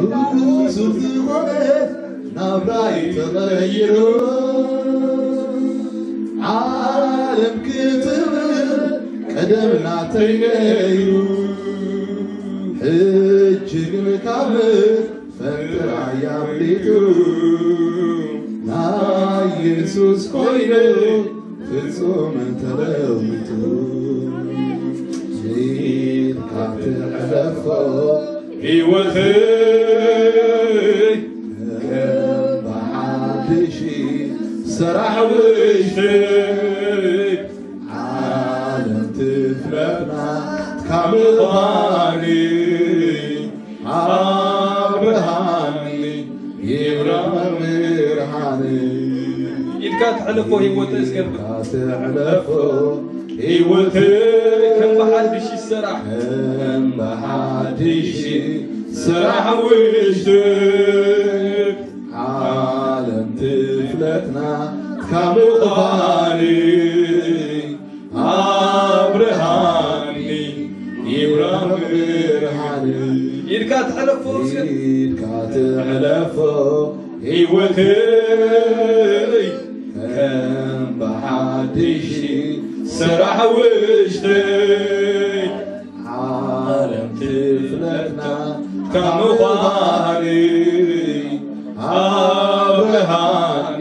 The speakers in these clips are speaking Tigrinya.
ብሱር ዝኾነ ናብራይ ተቐይሩ ዓለም ክትብል ቀደም ናተይ ነይሩ ሕጂ ግን ካብ ፈንጥራይ ኣፍሊጡ ናይ የሱስ ኮይኑ ፍጹም ተለዊጡ ኢልካ ትሕለፎ ህይወተይ ከም ብሓድሽ ሰራሕ ውሽተይ ዓለም ትፍለጥና ካብ ምዃኒ ኣብርሃኒ ይብራ መምህርሃኒ ኢልካ ትሕለፎ ህይወተይ እስከ ኢልካ ትሕለፎ ህይወተይ ከም ብሓድሽ ይሰራሕ ከም ብሓድሽ ስራሕ ውሽተይ ዓለም ትፍለጥና ካብ ምዃኒ ኣብርሃኒ ይብራ ብርሃኒ ኢልካ ትሕለፎ እስከ ኢልካ ትሕለፎ ህይወተይ ከም ብሓድሽ ስራሕ ውሽተይ ዓለም ትፍለጥና ካብ ምዃኒ ኣብርሃኒ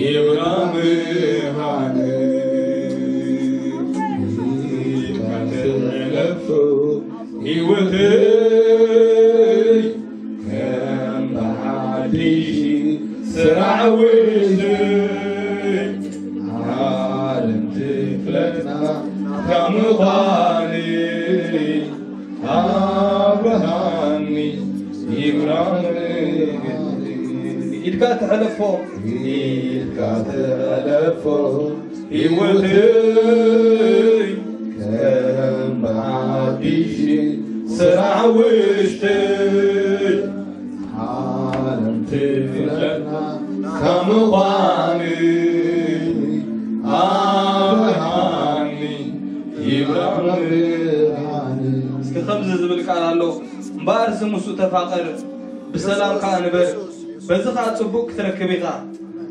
ይብራ ብርሃኒ ኢልካ ትሕለፎ ህይወተይ ከም ብሓድሽ ስራሕ ውሽተይ ዓለም ትፍለጥና ካብ ምዃኒ ኣብርሃኒ ይብራኒ ኢድካ ተሐለፎ ኢድካ ተሐለፎ ህይወተይ ከም ብሓድሽ ስራሕ ውሽተይ ዓለም ትፍለጥና ካብ ምዃኒ ኣብርሃኒ ይብራኒ እስኪ ከምዚ ዝብል ቃል ኣሎ እምበኣርሲ ምስኡ ተፋቐር ብሰላም ከኣ ንበር በዚ ከኣ ጽቡቕ ክትረክብ ኢኻ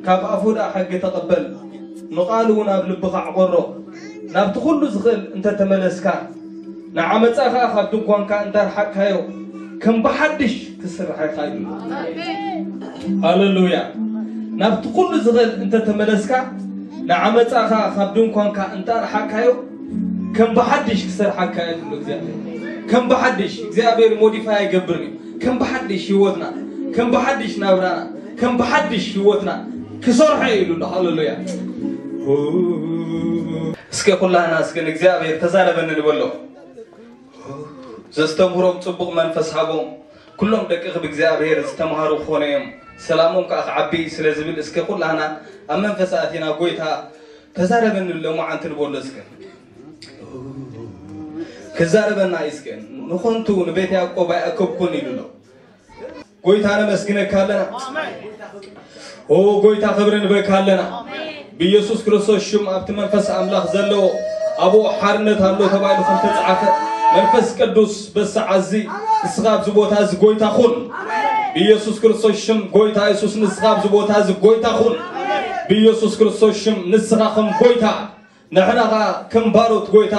ካብ ኣፉ ደኣ ሕጊ ተቐበል ንቓሉ እውን ኣብ ልብኻ ዕቖሮ ናብቲ ኩሉ ዝኽእል እንተተመለስካ ንዓመጻ ኸኣ ካብ ድንኳንካ እንተ ኣርሓቅካዮ ከም ብሓድሽ ክስራሕ ኢኻ ኢሉ ሃለሉያ ናብቲ ኩሉ ዝኽእል እንተተመለስካ ንዓመጻ ኸኣ ካብ ድንኳንካ እንተ ኣርሓቅካዮ ከም ብሓድሽ ክሰርሓካ ኢሉ እግዚኣብሔር ከም ብሓድሽ እግዚኣብሔር ሞዲፋይ ኣይገብርን እዩ ከም ብሓድሽ ህይወትና ከም ብሓድሽ ናብራና ከም ብሓድሽ ህይወትና ክሰርሖ ኢሉ ኣሎ ሃለሉያ እስከ ኩላህና እስከ ንእግዚኣብሔር ተዛረበኒ ንበሎ ዘስተምህሮም ጽቡቕ መንፈስ ሃቦም ኩሎም ደቅኺ ብእግዚኣብሔር ዝተምሃሩ ክኾኑ እዮም ሰላሞም ከዓ ክዓቢ እዩ ስለ ዝብል እስከ ኩላህና ኣብ መንፈስ ኣቲና ጎይታ ተዛረበኒ ለሙዓንቲ ንበሎ እስከ ክዛረበና እዩ እስከ ንኾንቱ ንቤት ያዕቆብ ኣይኣከብኩን ኢሉ ኣሎ ጎይታ ነመስግነካ ኣለና ኦ ጎይታ ክብሪ ንበካ ኣለና ብኢየሱስ ክርስቶስ ሽም ኣብቲ መንፈስ ኣምላኽ ዘለዎ ኣብኡ ሓርነት ኣሎ ተባሂሉ ከም ተጻሓፈ መንፈስ ቅዱስ በሰዓዚ ንስኻ ኣብዚ ቦታ እዚ ጎይታ ኩን ብኢየሱስ ክርስቶስ ሽም ጎይታ የሱስ ንስኻ ኣብዚ ቦታ እዚ ጎይታ ኩን ብኢየሱስ ክርስቶስ ሽም ንስኻ ከም ጎይታ ንሕና ኸዓ ከም ባሮት ጎይታ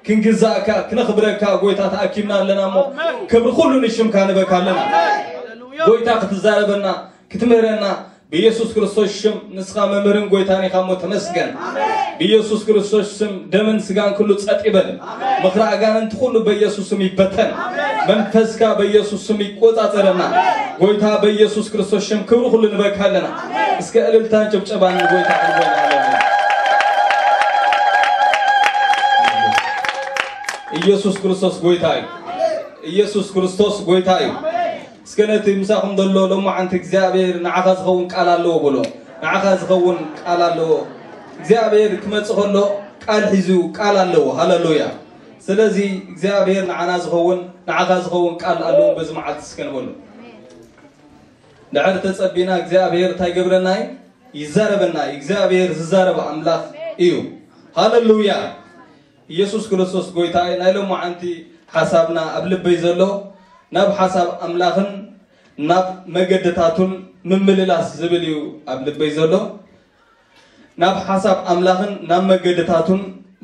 ክንግዛእካ ክነኽብረካ ጎይታ ተኣኪብና ኣለና እሞ ክብሪ ኩሉ ንሽምካ ንበካ ኣለና ጎይታ ክትዛረበና ክትምህረና ብኢየሱስ ክርስቶስ ሽም ንስኻ መምህርን ጎይታን ኢኻ እሞ ተመስገን ብኢየሱስ ክርስቶስ ስም ደምን ስጋን ኩሉ ጸጥ ይበል ምኽሪ ኣጋንንቲ ኩሉ በኢየሱስ ስም ይበተን መንፈስካ በኢየሱስ ስም ይቆጻጸረና ጎይታ በኢየሱስ ክርስቶስ ሽም ክብሪ ኩሉ ንበካ ኣለና እስከ እልልታን ጭብጨባን ንጎይታ ክንበል ኣለና ኢየሱስ ክርስቶስ ጎይታ እዩ ኢየሱስ ክርስቶስ ጎይታ እዩ እስከ ነቲ ምሳኹም ዘሎ ሎማዓንቲ እግዚኣብሔር ንዓኻ ዝኸውን ቃል ኣለዎ ብሎ ንዓኻ ዝኸውን ቃል ኣለዎ እግዚኣብሔር ክመጽእ ከሎ ቃል ሒዙ ቃል ኣለዎ ሃለሉያ ስለዚ እግዚኣብሔር ንዓና ዝኸውን ንዓኻ ዝኸውን ቃል ኣለዎ በዚ መዓልቲ እስከ ንበሉ ድሕር ተጸቢና እግዚኣብሔር እንታይ ገብረና እዩ ይዛረበና እዩ እግዚኣብሔር ዝዛረብ ኣምላኽ እዩ ሃለሉያ ኢየሱስ ክርስቶስ ጎይታ እዩ ናይ ሎማዓንቲ ሓሳብና ኣብ ልበይ ዘሎ ናብ ሓሳብ ኣምላኽን ናብ መገድታቱን ምምልላስ ዝብል እዩ ኣብ ልበይ ዘሎ። ናብ ሓሳብ ኣምላኽን ናብ መገድታቱን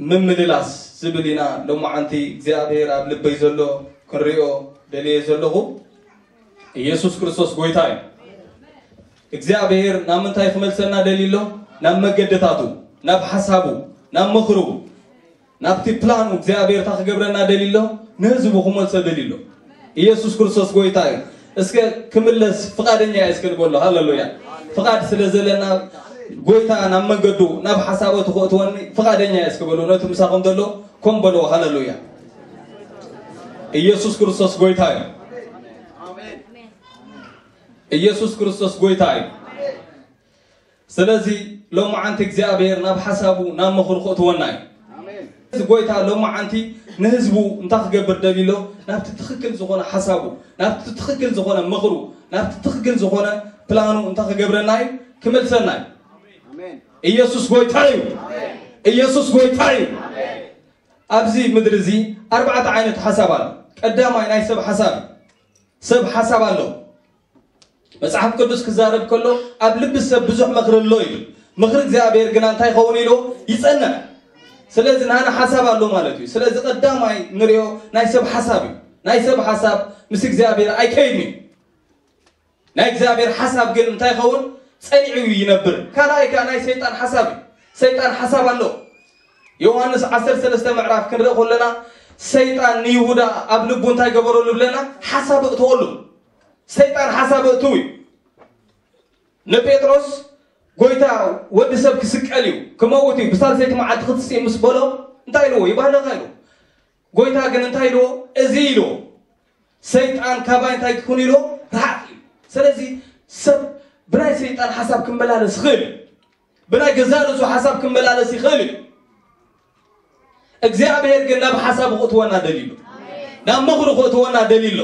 ምምልላስ ዝብል ኢና ሎማዓንቲ እግዚኣብሔር ኣብ ልበይ ዘሎ ክንሪኦ ደልየ ዘለኹ። ኢየሱስ ክርስቶስ ጎይታ እዩ። እግዚኣብሔር ናብ ምንታይ ክመልሰና ደልዩ ኣሎ? ናብ መገድታቱ፣ ናብ ሓሳቡ፣ ናብ ምኽሩ፣ ናብቲ ፕላኑ እግዚኣብሔር እንታይ ክገብረና ደልዩ ኣሎ? ንህዝቡ ክመልሶ ደልዩ ኣሎ። ኢየሱስ ክርስቶስ ጎይታ እዩ። እስከ ክምለስ ፍቓደኛ እየ እስከ ንበሎ። ሃሌሉያ። ፍቓድ ስለ ዘለና ጎይታ ናብ መንገዱ ናብ ሓሳባቱ ከእትወኒ ፍቓደኛ እየ እስከ በሎ። ነቲ ምሳኹም ዘሎ ኮም በሎ። ሃሌሉያ። ኢየሱስ ክርስቶስ ጎይታ እዩ። ኢየሱስ ክርስቶስ ጎይታ እዩ። ስለዚ ሎማዓንቲ እግዚኣብሔር ናብ ሓሳቡ ናብ ምኽሩ ክእትወና እዩ። እዚ ጎይታ ሎማዓንቲ ንህዝቡ እንታይ ክገብር ደልዩ ኣሎ? ናብቲ ትኽክል ዝኾነ ሓሳቡ፣ ናብቲ ትኽክል ዝኾነ ምኽሩ፣ ናብቲ ትኽክል ዝኾነ ፕላኑ እንታይ ክገብረና እዩ? ክመልሰና እዩ። ኢየሱስ ጎይታ እዩ። ኢየሱስ ጎይታ እዩ። ኣብዚ ምድሪ እዚ ኣርባዕተ ዓይነት ሓሳብ ኣሎ። ቀዳማይ ናይ ሰብ ሓሳብ እዩ። ሰብ ሓሳብ ኣሎ። መጽሓፍ ቅዱስ ክዛረብ ከሎ ኣብ ልቢ ሰብ ብዙሕ ምኽሪ ኣሎ እዩ። ምኽሪ እግዚኣብሔር ግና እንታይ ይኸውን ኢሉ ይጸንዕ። ስለዚ ናና ሓሳብ ኣሎ ማለት እዩ። ስለዚ ቀዳማይ ንሪኦ ናይ ሰብ ሓሳብ እዩ። ናይ ሰብ ሓሳብ ምስ እግዚኣብሔር ኣይከይድን እዩ። ናይ እግዚኣብሔር ሓሳብ ግን እንታይ ይኸውን? ጸኒዑ ይነብር። ካልኣይ ከኣ ናይ ሰይጣን ሓሳብ እዩ። ሰይጣን ሓሳብ ኣሎ። ዮሃንስ ዓሰርተ ሰለስተ ምዕራፍ ክንርኢ ከለና ሰይጣን ንይሁዳ ኣብ ልቡ እንታይ ገበረሉ ብለና? ሓሳብ እእተወሉ። ሰይጣን ሓሳብ እእትው እዩ። ንጴጥሮስ ጎይታ ወዲ ሰብ ክስቀል እዩ፣ ክመውት እዩ፣ ብሳልሰይቲ መዓልቲ ክትስእ ምስ በሎ እንታይ ኢልዎ? ይባህለኻ ኢልዎ። ጎይታ ግን እንታይ ኢልዎ? እዚ ኢልዎ። ሰይጣን ካባይ እንታይ ክኹን ኢልዎ? ርሓቕ ኢሉ። ስለዚ ሰብ ብናይ ሰይጣን ሓሳብ ክመላለስ ይኽእል እዩ። ብናይ ገዛእ ርእሱ ሓሳብ ክመላለስ ይኽእል እዩ። እግዚኣብሔር ግን ናብ ሓሳቡ ክእትወና ደልዩ ኣሎ። ናብ ምኽሩ ክእትወና ደልዩ ኣሎ።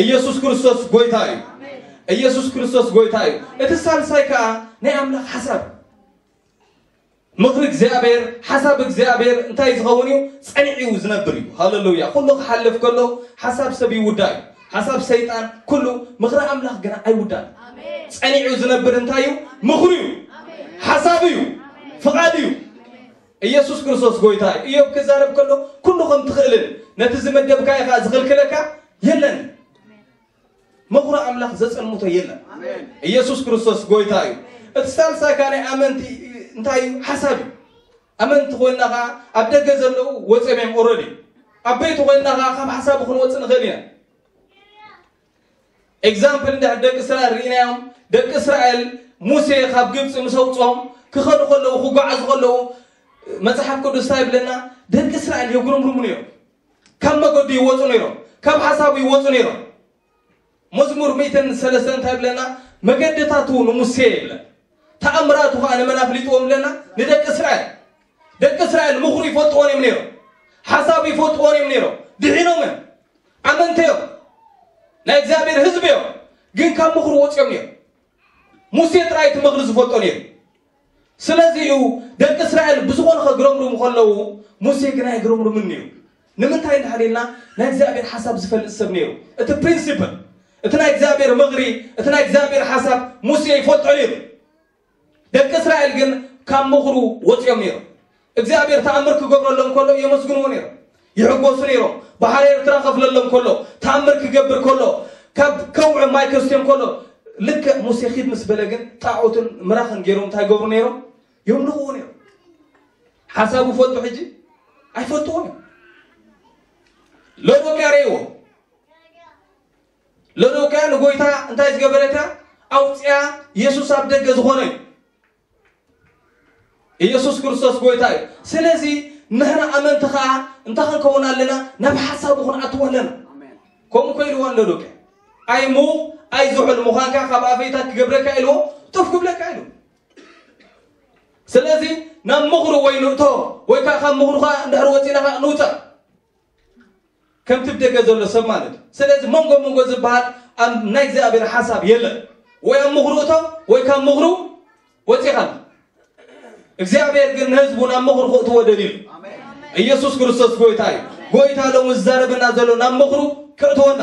ኢየሱስ ክርስቶስ ጎይታ እዩ። ኢየሱስ ክርስቶስ ጎይታ እዩ። እቲ ሳልሳይ ከኣ ናይ ኣምላኽ ሓሳብ። ምኽሪ እግዚኣብሔር፣ ሓሳብ እግዚኣብሔር እንታይ ዝኸውን እዩ? ጸኒዑ እዩ ዝነብር እዩ። ሃሌሉያ። ኩሉ ክሓልፍ ከሎ ሓሳብ ሰብ ይውዳእ እዩ። ሓሳብ ሰይጣን ኩሉ ምኽሪ ኣምላኽ ግና ኣይውዳእን። ጸኒዑ ዝነብር እንታይ እዩ? ምኽሩ እዩ። ሓሳብ እዩ። ፍቓድ እዩ። ኢየሱስ ክርስቶስ ጎይታ እዩ። ኢዮብ ክዛረብ ከሎ ኩሉ ከም ትኽእልን ነቲ ዝመደብካዮ ከኣ ዝኽልክለካ የለን። ምኽሪ ኣምላኽ ዘጸልምቶ የለን። ኢየሱስ ክርስቶስ ጎይታ እዩ። እቲ ሳልሳይ ከኣ ናይ ኣመንቲ እንታይ እዩ? ሓሳብ እዩ። ኣመንቲ ኮይንና ከኣ ኣብ ደገ ዘለዉ ወጺኦም እዮም ኦረዲ። ኣብ ቤቱ ኮይንና ከኣ ካብ ሓሳቡ ክንወጽእ ንኽእል ኢና። ኤግዛምፕል እንድሕር ደቂ እስራኤል ርኢናዮም፣ ደቂ እስራኤል ሙሴ ካብ ግብፂ ምስ ኣውፅኦም ክኸዱ ከለዉ፣ ክጓዓዙ ከለዉ መፅሓፍ ቅዱስ እንታይ ይብለና? ደቂ እስራኤል የጉረምርሙ ነይሮም። ካብ መገዱ ይወፁ ነይሮም። ካብ ሓሳቡ ይወፁ ነይሮም። መዝሙር ሚእትን ሰለስተን እንታይ ይብለና? መገድታቱ ንሙሴ ይብለን፣ ተኣምራቱ ከዓ ንመን ኣፍሊጥዎም ብለና? ንደቂ እስራኤል። ደቂ እስራኤል ምኽሩ ይፈልጥዎን እዮም ነይሮም። ሓሳቡ ይፈልጥዎን እዮም ነይሮም። ድሒኖም እዮም። ኣመንቲ እዮም። ናይ እግዚኣብሔር ህዝቢ እዮም። ግን ካብ ምኽሩ ወፂኦም እዮም። ሙሴ ጥራይ እቲ ምኽሪ ዝፈልጦ ነይሩ። ስለዚ እዩ ደቂ እስራኤል ብዝኾነ ከግረምርሙ ከለዉ፣ ሙሴ ግን ኣይግረምርምን ነይሩ። ንምንታይ እንድሕር ኢልና፣ ናይ እግዚኣብሔር ሓሳብ ዝፈልጥ ሰብ ነይሩ። እቲ ፕሪንሲፕል፣ እቲ ናይ እግዚኣብሔር ምኽሪ፣ እቲ ናይ እግዚኣብሔር ሓሳብ ሙሴ ይፈልጦ ነይሩ። ደቂ እስራኤል ግን ካብ ምኽሩ ወፂኦም ነይሮም። እግዚኣብሔር ተኣምር ክገብረሎም ከሎ የመስግንዎ ነይሮም፣ ይሕጎሱ ነይሮም። ባሕሪ ኤርትራ ከፍለሎም ከሎ፣ ተኣምር ክገብር ከሎ፣ ካብ ከውዒ ማይ ከስትዮም ከሎ፣ ልክዕ ሙሴ ኺድ ምስ በለ ግን ጣዖትን ምራኽን ገይሮም እንታይ ገብሩ ነይሮም? የምልኽዎ ነይሮም። ሓሳቡ ፈልጡ ሕጂ? ኣይፈልጥዎን እዮም። ሎዶቅያ ረእይዎ። ሎዶቅያ ንጎይታ እንታይ ዝገበረት እያ? ኣውፅያ። የሱስ ኣብ ደገ ዝኾነ እዩ። ኢየሱስ ክርስቶስ ጎይታ እዩ። ስለዚ ንሕና ኣመንቲ ኸዓ እንታይ ክንከውን ኣለና? ናብ ሓሳቡ ክንኣትዎ ኣለና። ከምኡ እኮ ኢልዋ ንሎዶቅያ። ኣይ ሙቕ ኣይ ዝሑል ምዃንካ ካብ ኣፈይታ ክገብረካ ኢልዎ፣ ጡፍ ክብለካ ኢሉ። ስለዚ ናብ ምኽሩ ወይ ንእቶ፣ ወይ ከዓ ካብ ምኽሩ ኸዓ እንድሕር ወፂና ኸዓ ንውፃእ። ከምቲ ብደገ ዘሎ ሰብ ማለት እዩ። ስለዚ መንጎ መንጎ ዝበሃል ኣብ ናይ እግዚኣብሔር ሓሳብ የለን። ወይ ኣብ ምኽሩ እቶ፣ ወይ ካብ ምኽሩ ወፂኻ። እግዚኣብሔር ግን ንህዝቡ ናብ ምኽሩ ክእትዎ ደልዩ። ኢየሱስ ክርስቶስ ጎይታ እዩ። ጎይታ ሎሚ ዝዛረበና ዘሎ ናብ ምኽሩ ክእትወና፣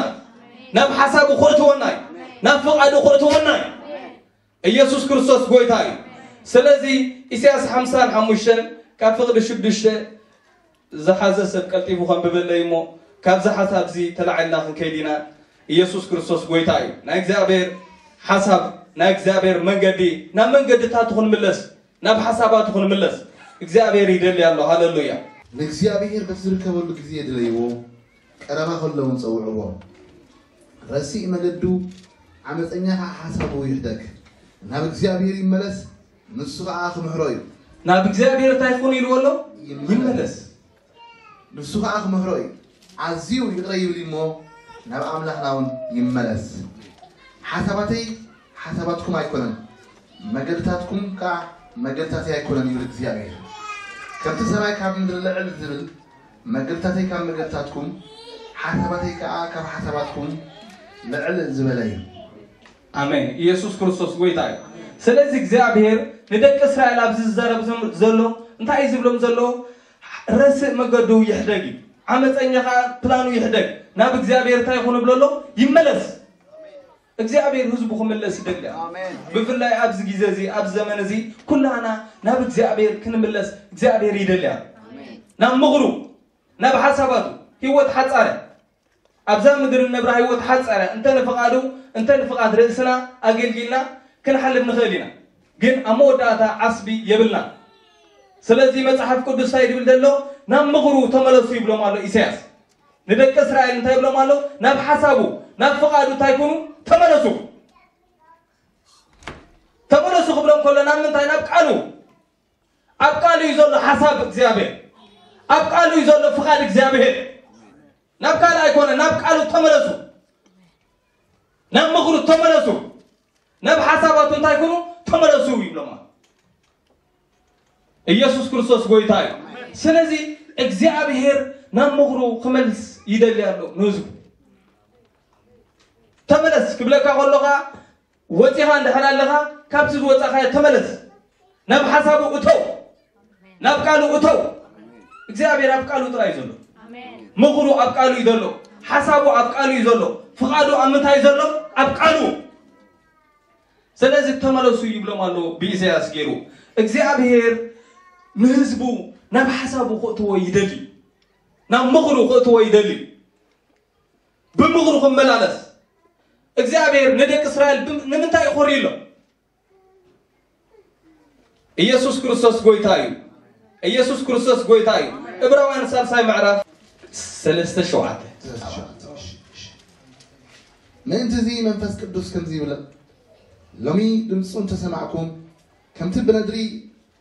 ናብ ሓሳቡ ክእትወና እዩ። ናብ ፍቓዱ ከእትወና እዩ። ኢየሱስ ክርስቶስ ጎይታ እዩ። ስለዚ ኢሳያስ ሓምሳን ሓሙሽተን ካብ ፍቕዲ ሽዱሽተ ዝሓዘ ሰብ ቀልጢፉ ከንብበለይ እሞ፣ ካብዚ ሓሳብ እዚ ተላዒልና ክንከይድ ኢና። ኢየሱስ ክርስቶስ ጎይታ እዩ። ናይ እግዚኣብሔር ሓሳብ፣ ናይ እግዚኣብሔር መንገዲ፣ ናብ መንገድታቱ ክንምለስ፣ ናብ ሓሳባቱ ክንምለስ እግዚኣብሔር ይደሊ ኣሎ። ሃሌሉያ። ንእግዚኣብሔር በቲ ዝርከበሉ ግዜ ድለይዎ፣ ቀረባ ከሎ እውን ጸውዕዎ። ረሲእ መገዱ ዓመፀኛ ከዓ ሓሳቡ ይሕደግ። ናብ እግዚኣብሔር ይመለስ፣ ንሱ ከዓ ክምሕሮ እዩ። ናብ እግዚኣብሔር እንታይ ይኹን ኢልዎ ኣሎ? ይመለስ። ይመለስ። ንሱ ከዓ ክምሕሮ እዩ። ኣዝዩ ይቕረ ይብል እሞ ናብ ኣምላኽና እውን ይመለስ። ሓሳባተይ ሓሳባትኩም ኣይኮነን፣ መገድታትኩም ከዓ መገድታተይ ኣይኮነን ይብል እግዚኣብሔር። ከምቲ ሰማይ ካብ ምድሪ ልዕል ዝብል መገድታተይ ካብ መገድታትኩም፣ ሓሳባተይ ከዓ ካብ ሓሳባትኩም ልዕል ዝበለ እዩ። ኣሜን። ኢየሱስ ክርስቶስ ጎይታ እዩ። ስለዚ እግዚኣብሔር ንደቂ እስራኤል ኣብዚ ዝዛረብ ዘሎ እንታይ እዩ ዝብሎም ዘሎ? ረስእ መገዱ ይሕደግ እዩ። ዓመፀኛ ከዓ ፕላኑ ይሕደግ። ናብ እግዚኣብሔር እንታይ ይኹን ብሎ ኣሎ? ይመለስ። እግዚኣብሔር ህዝቡ ክምለስ ይደሊ ኣሎ። ኣሜን። ብፍላይ ኣብዚ ግዜ እዚ፣ ኣብዚ ዘመን እዚ ኩላና ናብ እግዚኣብሔር ክንምለስ እግዚኣብሔር ይደሊ ኣሎ። ኣሜን። ናብ ምኽሩ፣ ናብ ሓሳባቱ። ህይወት ሓጻረ ኣብዛ ምድሪ እነብራ ህይወት ሓጻረ እንተ ንፍቓዱ እንተ ንፍቓድ ርእስና ኣገልጊልና ክንሓልፍ ንኽእል ኢና። ግን ኣብ መወዳእታ ዓስቢ የብልና። ስለዚ መጽሓፍ ቅዱስ እንታይ ድብል ዘሎ? ናብ ምኽሩ ተመለሱ ይብሎም ኣሎ ኢሳያስ። ንደቂ እስራኤል እንታይ ይብሎም ኣሎ? ናብ ሓሳቡ ናብ ፍቓዱ እንታይ ኩኑ? ተመለሱ። ተመለሱ ክብሎም ከሎ ናብ ምንታይ? ናብ ቃሉ። ኣብ ቃሉ እዩ ዘሎ ሓሳብ እግዚኣብሔር። ኣብ ቃሉ እዩ ዘሎ ፍቓድ እግዚኣብሔር። ናብ ካልእ ኣይኮነ፣ ናብ ቃሉ ተመለሱ። ናብ ምኽሩ ተመለሱ። ናብ ሓሳባቱ እንታይ ኩኑ? ተመለሱ ይብሎም። ኢየሱስ ክርስቶስ ጎይታ እዩ። ስለዚ እግዚኣብሔር ናብ ምኽሩ ክመልስ ይደሊ ኣሎ ንህዝቡ። ተመለስ ክብለካ ከሎ ኸዓ ወፂኻ እንድሕር ኣለኻ ካብቲ ዝወፃኻዮ ተመለስ። ናብ ሓሳቡ እተው። ናብ ቃሉ እተው። እግዚኣብሔር ኣብ ቃሉ ጥራይ እዩ ዘሎ። ኣሜን። ምኽሩ ኣብ ቃሉ እዩ ዘሎ። ሓሳቡ ኣብ ቃሉ እዩ ዘሎ። ፍቓዱ ኣብ ምንታይ እዩ ዘሎ? ኣብ ቃሉ። ስለዚ ተመለሱ ይብሎም ኣሎ ብኢሳያስ ገይሩ። እግዚኣብሔር ንህዝቡ ናብ ሓሳቡ ክእትዎ ይደሊ። ናብ ምኽሩ ክእትዎ ይደሊ። ብምኽሩ ክመላለስ እግዚኣብሔር ንደቂ እስራኤል ብም-፣ ንምንታይ ይኾርዩ ኣሎ? ኢየሱስ ክርስቶስ ጎይታ እዩ። ኢየሱስ ክርስቶስ ጎይታ እዩ። ዕብራውያን ሳልሳይ ምዕራፍ ሰለስተ ሸውዓተ። ምእንቲ እዚ መንፈስ ቅዱስ ከምዚ ይብል፣ ሎሚ ድምፁ እንተሰማዕኩም፣ ከምቲ ብነድሪ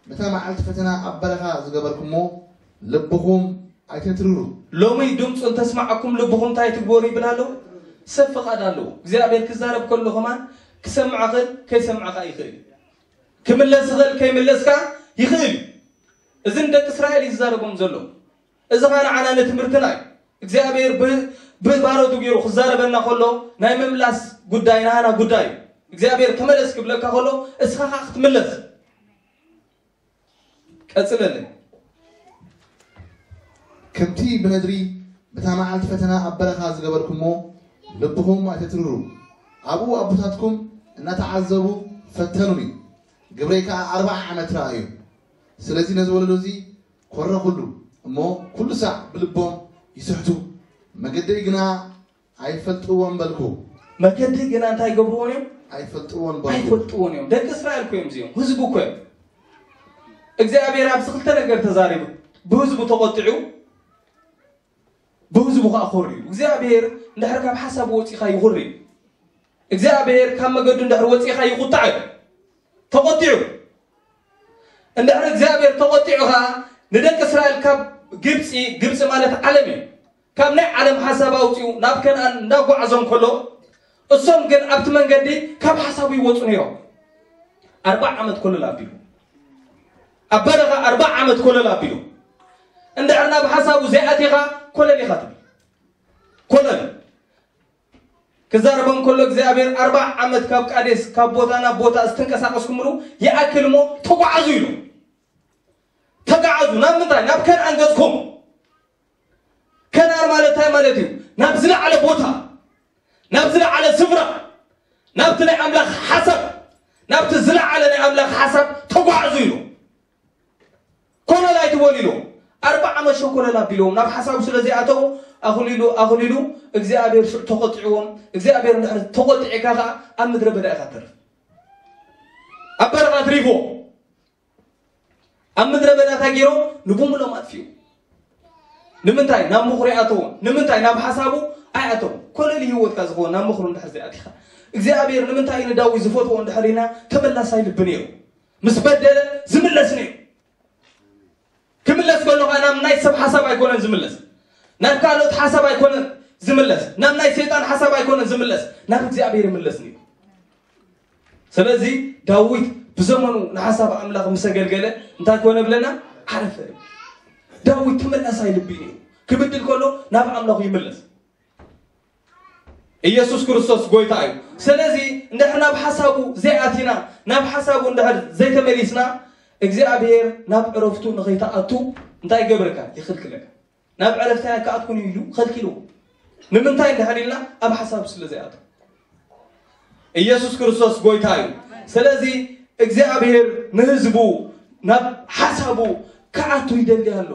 በታ መዓልቲ ፈተና ኣብ በረኻ ዝገበርኩሞ፣ ልብኹም ኣይተትርሩ። ሎሚ ድምፁ እንተስማዕኩም ልብኹም እንታይ ትግበሩ ይብል ኣሎ? ሰብ ፍቓድ ኣለዎ። እግዚኣብሔር ክዛረብ ከሎ ከማን ክሰምዕ ኽእል፣ ከይሰምዕ ኸዓ ይኽእል። ክምለስ ኽእል፣ ከይምለስ ከኣ ይኽእል እዩ። እዚ ንደቂ እስራኤል እዩ ዝዛረቦም ዘሎ። እዚ ኸኣ ንዓና ንትምህርትና እዩ። እግዚኣብሔር ብ-፣ ብባሮቱ ገይሩ ክዛረበና ከሎ ናይ ምምላስ ጉዳይ ናህና ጉዳይ እዩ። እግዚኣብሔር ተመለስ ክብለካ ከሎ እስኻ ኸኣ ክትምለስ። ቀጽለለይ። ከምቲ ብነድሪ በታ መዓልቲ ፈተና ኣብ በረኻ ዝገበርኩሞ ልብኹም ኣይተትርሩ። ኣብኡ ኣቦታትኩም እናተዓዘቡ ፈተኑኒ። ግብረይ ከኣ ኣርብዓ ዓመት ረኣዩ። ስለዚ ነዚ ወለዶ እዚ ኮረኹሉ እሞ ኩሉ ሳዕ ብልቦም ይስሕቱ። መገደይ ግና ኣይፈልጥዎን በልኩ። መገዲ ግና እንታይ ይገብርዎን እዮም? ኣይፈልጥዎን በልኩ። ኣይፈልጥዎን እዮም። ደቂ እስራኤል እኮ እዮም እዚኦም። ህዝቡ እኮ እዮም። እግዚኣብሔር ኣብዚ ክልተ ነገር ተዛሪቡ። ብህዝቡ ተቖጢዑ፣ ብህዝቡ ከኣ ኮርዩ። እግዚኣብሔር እንድሕር ካብ ሓሳቡ ወፂኻ ይኹሪ። እግዚኣብሔር ካብ መገዱ እንድሕር ወፂኻ ይቑጣዕ እዩ። ተቖጢዑ። እንድሕር እግዚኣብሔር ተቖጢዑ ኸዓ ንደቂ እስራኤል ካብ ግብፂ፣ ግብፂ ማለት ዓለም እዩ፣ ካብ ናይ ዓለም ሓሳብ ኣውፂኡ ናብ ከነኣን እንዳጓዓዞም ከሎ፣ እሶም ግን ኣብቲ መንገዲ ካብ ሓሳቡ ይወፁ ነይሮም። ኣርባዓ ዓመት ኮለል ኣቢሉ፣ ኣብ በረኻ ኣርባዓ ዓመት ኮለል ኣቢሉ፣ እንድሕር ናብ ሓሳቡ ዘይኣቲኻ ኮለል ኢኻ ትብል። ኮለል ክዛረቦም ከሎ እግዚኣብሔር ኣርባዓ ዓመት ካብ ቃዴስ ካብ ቦታ ናብ ቦታ ዝተንቀሳቀስኩምሉ ይኣክል እሞ ተጓዓዙ ኢሉ። ተጓዓዙ ናብ ምንታይ? ናብ ከነኣን ገጽኩም። ከነኣን ማለት እንታይ ማለት እዩ? ናብ ዝለዓለ ቦታ፣ ናብ ዝለዓለ ስፍራ፣ እቲ ናይ ኣምላኽ ሓሳብ፣ ናብቲ ዝለዓለ ናይ ኣምላኽ ሓሳብ ተጓዓዙ ኢሉ። ኮለል ኣይትበሉ ኢሉ። ኣርባ ዓመት ሸኮለል ኣቢልዎም ናብ ሓሳቡ ስለ ዘይኣተዉ፣ ኣኹሊሉ፣ ኣኹሊሉ እግዚኣብሔር ሽዑ ተቖጢዕዎም። እግዚኣብሔር እንድሕር ተቖጢዕካ ኸዓ ኣብ ምድረ በዳ ኢኻ ትተርፍ። ኣብ በረኻ ኣትሪፍዎ። ኣብ ምድረ በዳ እንታይ ገይሮም? ንቡምሎም ኣጥፊኡ። ንምንታይ ናብ ምኽሩ ይኣተዎም? ንምንታይ ናብ ሓሳቡ ኣይኣተዎም? ኮለል ህይወትካ ዝኸውን ናብ ምኽሩ እንድሕር ዘይኣቲኻ፣ እግዚኣብሔር ንምንታይ እዩ ንዳዊት ዝፈትዎ እንድሕር ኢልና፣ ተመላሳይ ልቢ ነይሩ። ምስ በደለ ዝምለስ ነይሩ። ክምለስ ከሎ ከዓ ናብ ናይ ሰብ ሓሳብ ኣይኮነን ዝምለስ፣ ናብ ካልኦት ሓሳብ ኣይኮነን ዝምለስ፣ ናብ ናይ ሰይጣን ሓሳብ ኣይኮነን ዝምለስ፣ ናብ እግዚኣብሔር ይምለስ ነይሩ። ስለዚ ዳዊት ብዘመኑ ንሓሳብ ኣምላኽ ምስ ኣገልገለ እንታይ ኮነ ብለና? ዓረፈ። ዳዊት ተመላሳይ ልቢ እዩ ነይሩ። ክብድል ከሎ ናብ ኣምላኹ ይምለስ። ኢየሱስ ክርስቶስ ጎይታ እዩ። ስለዚ እንድሕር ናብ ሓሳቡ ዘይኣቲና፣ ናብ ሓሳቡ እንድሕር ዘይተመሊስና፣ እግዚኣብሔር ናብ ዕረፍቱ ንኸይትኣቱ እንታይ ይገብረካ? ይኽልክለካ። ናብ ዕረፍቲ ኣይክኣትኩን ኢሉ ከልኪልዎ። ንምንታይ እንድሕር ኢልና ኣብ ሓሳቡ ስለ ዘይኣቱ። ኢየሱስ ክርስቶስ ጎይታ እዩ። ስለዚ እግዚኣብሔር ንህዝቡ ናብ ሓሳቡ ክኣቱ ይደሊ ኣሎ።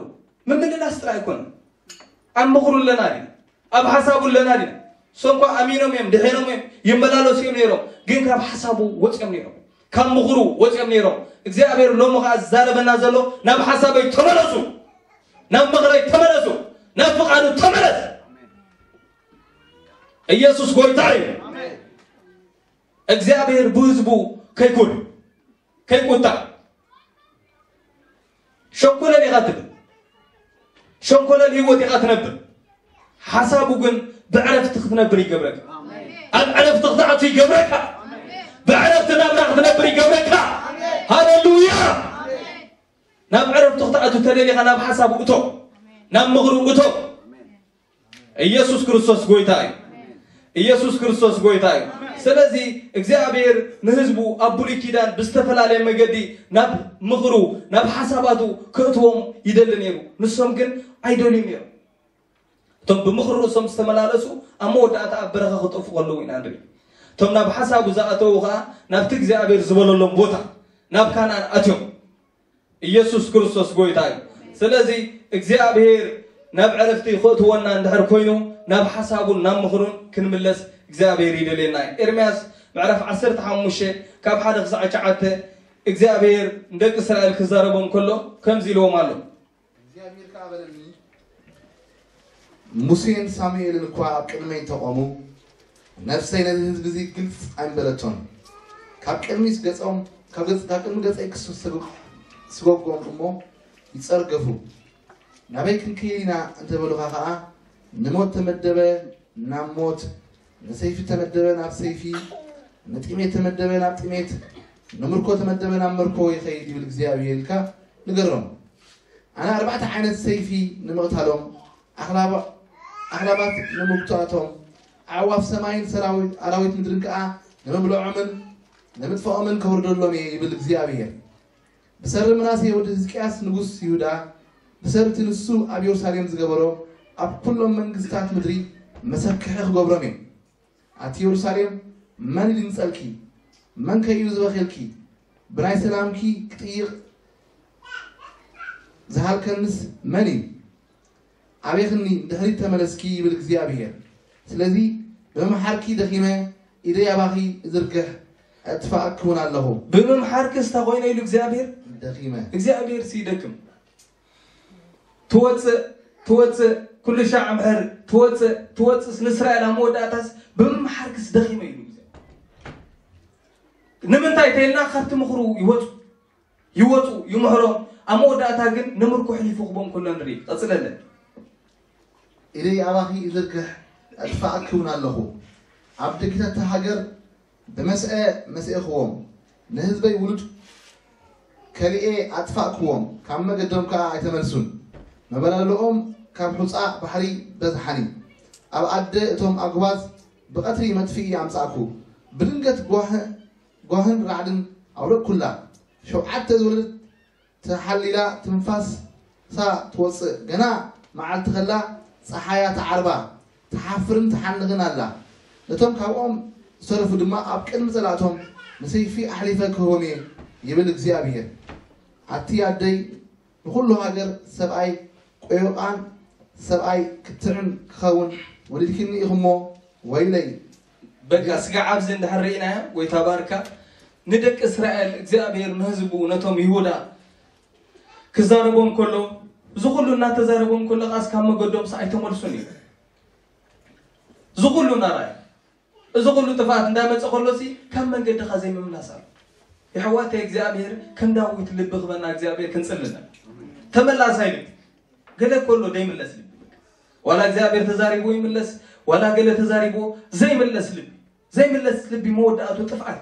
ምምልላስ ጥራይ ኣይኮነን። ኣብ ምኽሩ ኣለና ዲና? ኣብ ሓሳቡ ኣለና ዲና? እሶም እኳ ኣሚኖም እዮም፣ ድሒኖም እዮም፣ ይመላለሱ እዮም ነይሮም፣ ግን ካብ ሓሳቡ ወፅዮም ነይሮም፣ ካብ ምኽሩ ወፅዮም ነይሮም። እግዚኣብሔር ሎሚ ከዓ ዝዛረበና ዘሎ ናብ ሓሳበይ ተመለሱ፣ ናብ ምኽረይ ተመለሱ፣ ናብ ፍቓዱ ተመለስ። ኢየሱስ ጎይታ እዩ። እግዚኣብሔር ብህዝቡ ከይኩር፣ ከይቁጣዕ። ሸኮለል ኢኻ ትብል፣ ሸኮለል ህይወት ኢኻ ትነብር። ሓሳቡ ግን ብዕረፍቲ ክትነብር ይገብረካ። ኣብ ዕረፍቲ ክትኣቱ ይገብረካ። ብዕረፍቲ ናብራ ክትነብር ይገብረካ። ሃሌሉያ። ናብ ዕረፍቲ ክትኣቱ ተደሊኻ ናብ ሓሳቡ እቶ፣ ናብ ምኽሩ እቶ። ኢየሱስ ክርስቶስ ጎይታ እዩ። ኢየሱስ ክርስቶስ ጎይታ እዩ። ስለዚ እግዚኣብሔር ንህዝቡ ኣብ ብሉይ ኪዳን ብዝተፈላለየ መገዲ ናብ ምኽሩ፣ ናብ ሓሳባቱ ከእትዎም ይደሊ ነይሩ። ንሶም ግን ኣይደልዩን ነይሮም። እቶም ብምኽሪ ርእሶም ዝተመላለሱ ኣብ መወዳእታ ኣብ በረኻ ክጠፉ ከለዉ ኢና ንርኢ። እቶም ናብ ሓሳቡ ዝኣተዉ ኸዓ ናብቲ እግዚኣብሔር ዝበለሎም ቦታ ናብ ካናን ኣትዮም። ኢየሱስ ክርስቶስ ጎይታ እዩ። ስለዚ እግዚኣብሔር ናብ ዕረፍቲ ክእትወና እንድሕር ኮይኑ ናብ ሓሳቡን ናብ ምኽሩን ክንምለስ እግዚኣብሔር ይደልየና እዩ። ኤርምያስ ምዕራፍ ዓሰርተ ሓሙሽተ ካብ ሓደ ክሳዕ ትሽዓተ እግዚኣብሔር ንደቂ እስራኤል ክዛረቦም ከሎ ከምዚ ኢልዎም ኣሎ። እግዚኣብሔር ከኣ በለኒ፣ ሙሴን ሳሙኤልን እኳ ኣብ ቅድመይ እንተቖሙ፣ ነፍሰይ ነዚ ህዝቢ እዚ ግልጽ ኣይምበለቶን። ካብ ቅድሚ ገጾም፣ ካብ ገጽ-፣ ካብ ቅድሚ ገጸይ ክስጎ-፣ ክስጎጎም እሞ ይጸርገፉ። ናበይ ክንክይድ ኢና እንተበሉኻ ኸኣ፣ ንሞት ተመደበ ናብ ሞት፣ ንሰይፊ ተመደበ ናብ ሰይፊ፣ ንጥሜት ተመደበ ናብ ጥሜት፣ ንምርኮ ተመደበ ናብ ምርኮ ይኸይድ ይብል እግዚኣብሔር ኢልካ ንገሮም። ኣነ ኣርባዕተ ዓይነት ሰይፊ ንምቕታሎም፣ ኣኽላባ-፣ ኣኽላባት ንምጉታቶም፣ ኣዕዋፍ ሰማይን ሰራዊት ኣራዊት ምድርን ከኣ ንምብልዖምን ንምጥፍኦምን ከውርደሎም እየ ይብል እግዚኣብሔር። ብሰሪ ምናሴ ወዲ ህዝቅያስ ንጉስ ይሁዳ፣ ብሰሪ እቲ ንሱ ኣብ የሩሳሌም ዝገበሮ፣ ኣብ ኩሎም መንግስታት ምድሪ መሰክሒ ክገብሮም እየ። ኣቲ የሩሳሌም፣ መን ይድምጸልኪ? መን ከ እዩ ዝበኼልኪ? ብናይ ሰላምኪ ክጥይቕ ዝሃልከንስ መን እዩ? ኣቤኽኒ፣ ንድሕሪት ተመለስኪ ይብል እግዚኣብሔር። ስለዚ ብምምሓርኪ ደኺመ፣ ኢደይ ኣባኺ እዝርግሕ፣ ኣጥፋእኪ እውን ኣለኹ። ብምምሓርክስ እንታይ ኮይነ ኢሉ እግዚኣብሔር? ደኺመ። እግዚኣብሔር ሲ ይደክም። ትወፅእ፣ ትወፅእ፣ ኩሉ ሻዕ ምሕር፣ ትወፅእ፣ ትወፅእስ ንእስራኤል ኣብ መወዳእታስ ብምምሓርክስ ደኺመ ኢሉ እግዚኣብሔር። ንምንታይ ተይልና ካብቲ ምኽሩ ይወፁ፣ ይወፁ፣ ይምሕሮም። ኣብ መወዳእታ ግን ንምርኮ ሕሊፉ ክቦም ከሎ ንርኢ። ቀፅለለ። ኢደይ ኣባኺ እዝርግሕ፣ ኣጥፋእኪ እውን ኣለኹ። ኣብ ደገታት እታ ሃገር ብመስአ መስኤኽዎም፣ ንህዝበይ ውሉድ ከሊኤ ኣጥፋእክዎም፣ ካብ መገዶም ከኣ ኣይተመልሱን። መበላለኦም ካብ ሑጻ ባሕሪ በዝሓኒ። ኣብ ኣደ እቶም ኣጉባዝ ብቐትሪ መጥፍኢ ኣምጻእኩ። ብድንገት ጓህ-፣ ጓህን ራዕድን ኣውረድኩላ። ሸውዓተ ዝወለደት ተሓሊላ ትንፋሳ ትወጽእ። ገና መዓልቲ ከላ ጸሓያ ትዓርባ፣ ትሓፍርን ትሓንኽን ኣላ። ነቶም ካብኦም ዝተረፉ ድማ ኣብ ቅድሚ ጸላእቶም ንሰይፊ ኣሕሊፈ ክህቦም እየ ይብል እግዚኣብሔር። ኣቲ ኣደይ ንኹሉ ሃገር ሰብኣይ ቆዮቓን ሰብኣይ ክትዕን ክኸውን ወሊድክኒ ኢኹሞ ወይለይ። በቃ ስጋዕ ኣብዚ እንድሕር ርኢናዮ፣ ጎይታ ባርካ። ንደቂ እስራኤል እግዚኣብሔር ንህዝቡ ነቶም ይሁዳ ክዛረቦም ከሎ፣ እዚ ኩሉ እናተዛረቦም ከሎ ቃስ ካብ መገዶም ኣይተመልሱን እዩ። እዚ ኩሉ እናራእዩ፣ እዚ ኩሉ ጥፍኣት እንዳመፀ ከሎሲ ካብ መንገድኻ ዘይምምላስ ኣሎ። የሕዋተይ እግዚኣብሔር ከም ዳዊት ልቢ ክበና እግዚኣብሔር ክንጽልነ ተመላሳይ ልቢ። ገለ ከሎ ዘይምለስ ልቢ። ዋላ እግዚኣብሔር ተዛሪቡ ይምለስ፣ ዋላ ገለ ተዛሪቡ ዘይምለስ ልቢ። ዘይምለስ ልቢ መወዳእቱ ጥፍኣት።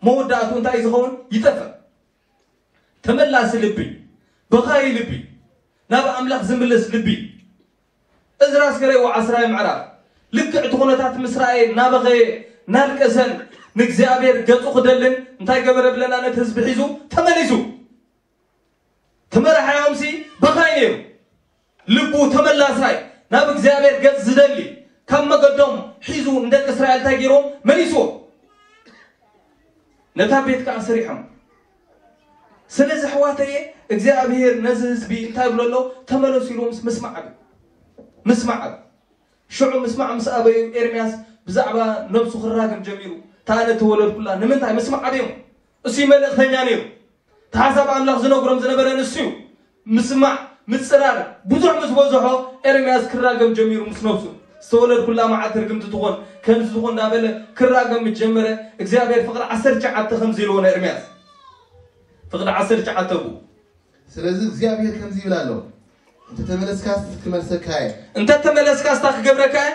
መወዳእቱ እንታይ ዝኸውን? ይጠፍእ። ተመላሲ ልቢ፣ በኻይ ልቢ፣ ናብ ኣምላኽ ዝምልስ ልቢ። እዝራስ ገረይዎ ዓስራይ ምዕራፍ ልክዕ እቲ ኩነታት ምስ ረኣየ እናበኸየ እናልቀሰን ንእግዚኣብሔር ገጹ ክደልን እንታይ ገበረ ብለና? ነቲ ህዝቢ ሒዙ ተመሊሱ። ተመራሓዮምሲ በኻይ ነይሩ። ልቡ ተመላሳይ፣ ናብ እግዚኣብሔር ገጽ ዝደሊ፣ ካብ መገዶም ሒዙ ንደቂ እስራኤል እንታይ ገይሮም? መሊስዎም። ነታ ቤት ከኣ ሰሪሖም። ስለዚ ኣሕዋተየ እግዚኣብሔር ነዚ ህዝቢ እንታይ ይብሎ ኣሎ? ተመለሱ ኢሉ ምስ-፣ ምስማዕ ኣብ-፣ ምስማዕ ኣብ-፣ ሽዑ ምስማዕ ምስ ኣበዩ ኤርምያስ ብዛዕባ ነብሱ ክራገም ጀሚሩ። እታ ኣነ ተወለድኩላ ንምንታይ? ምስማዕ ኣብዮም። እሱ መልእኽተኛ ነይሩ። እቲ ሓሳብ ኣምላኽ ዝነግሮም ዝነበረ ንሱ እዩ። ምስማዕ፣ ምጽራር፣ ብዙሕ ምስ በዝሖ ኤርምያስ ክራገም ጀሚሩ ምስ ነብሱ። ዝተወለድኩላ መዓልቲ ርግምቲ ትኾን፣ ከምዚ ትኾን እንዳበለ ክራገም ምስ ጀመረ እግዚኣብሔር ፍቕዲ ዓሰርተ ትሽዓተ ከምዚ ኢልዎ ንኤርምያስ። ፍቕዲ ዓሰርተ ትሽዓተ ብኡ። ስለዚ እግዚኣብሔር ከምዚ ይብል ኣሎ፣ እንተ ተመለስካስ ክመልሰካ እየ። እንተ ተመለስካስ እንታይ ክገብረካ እየ?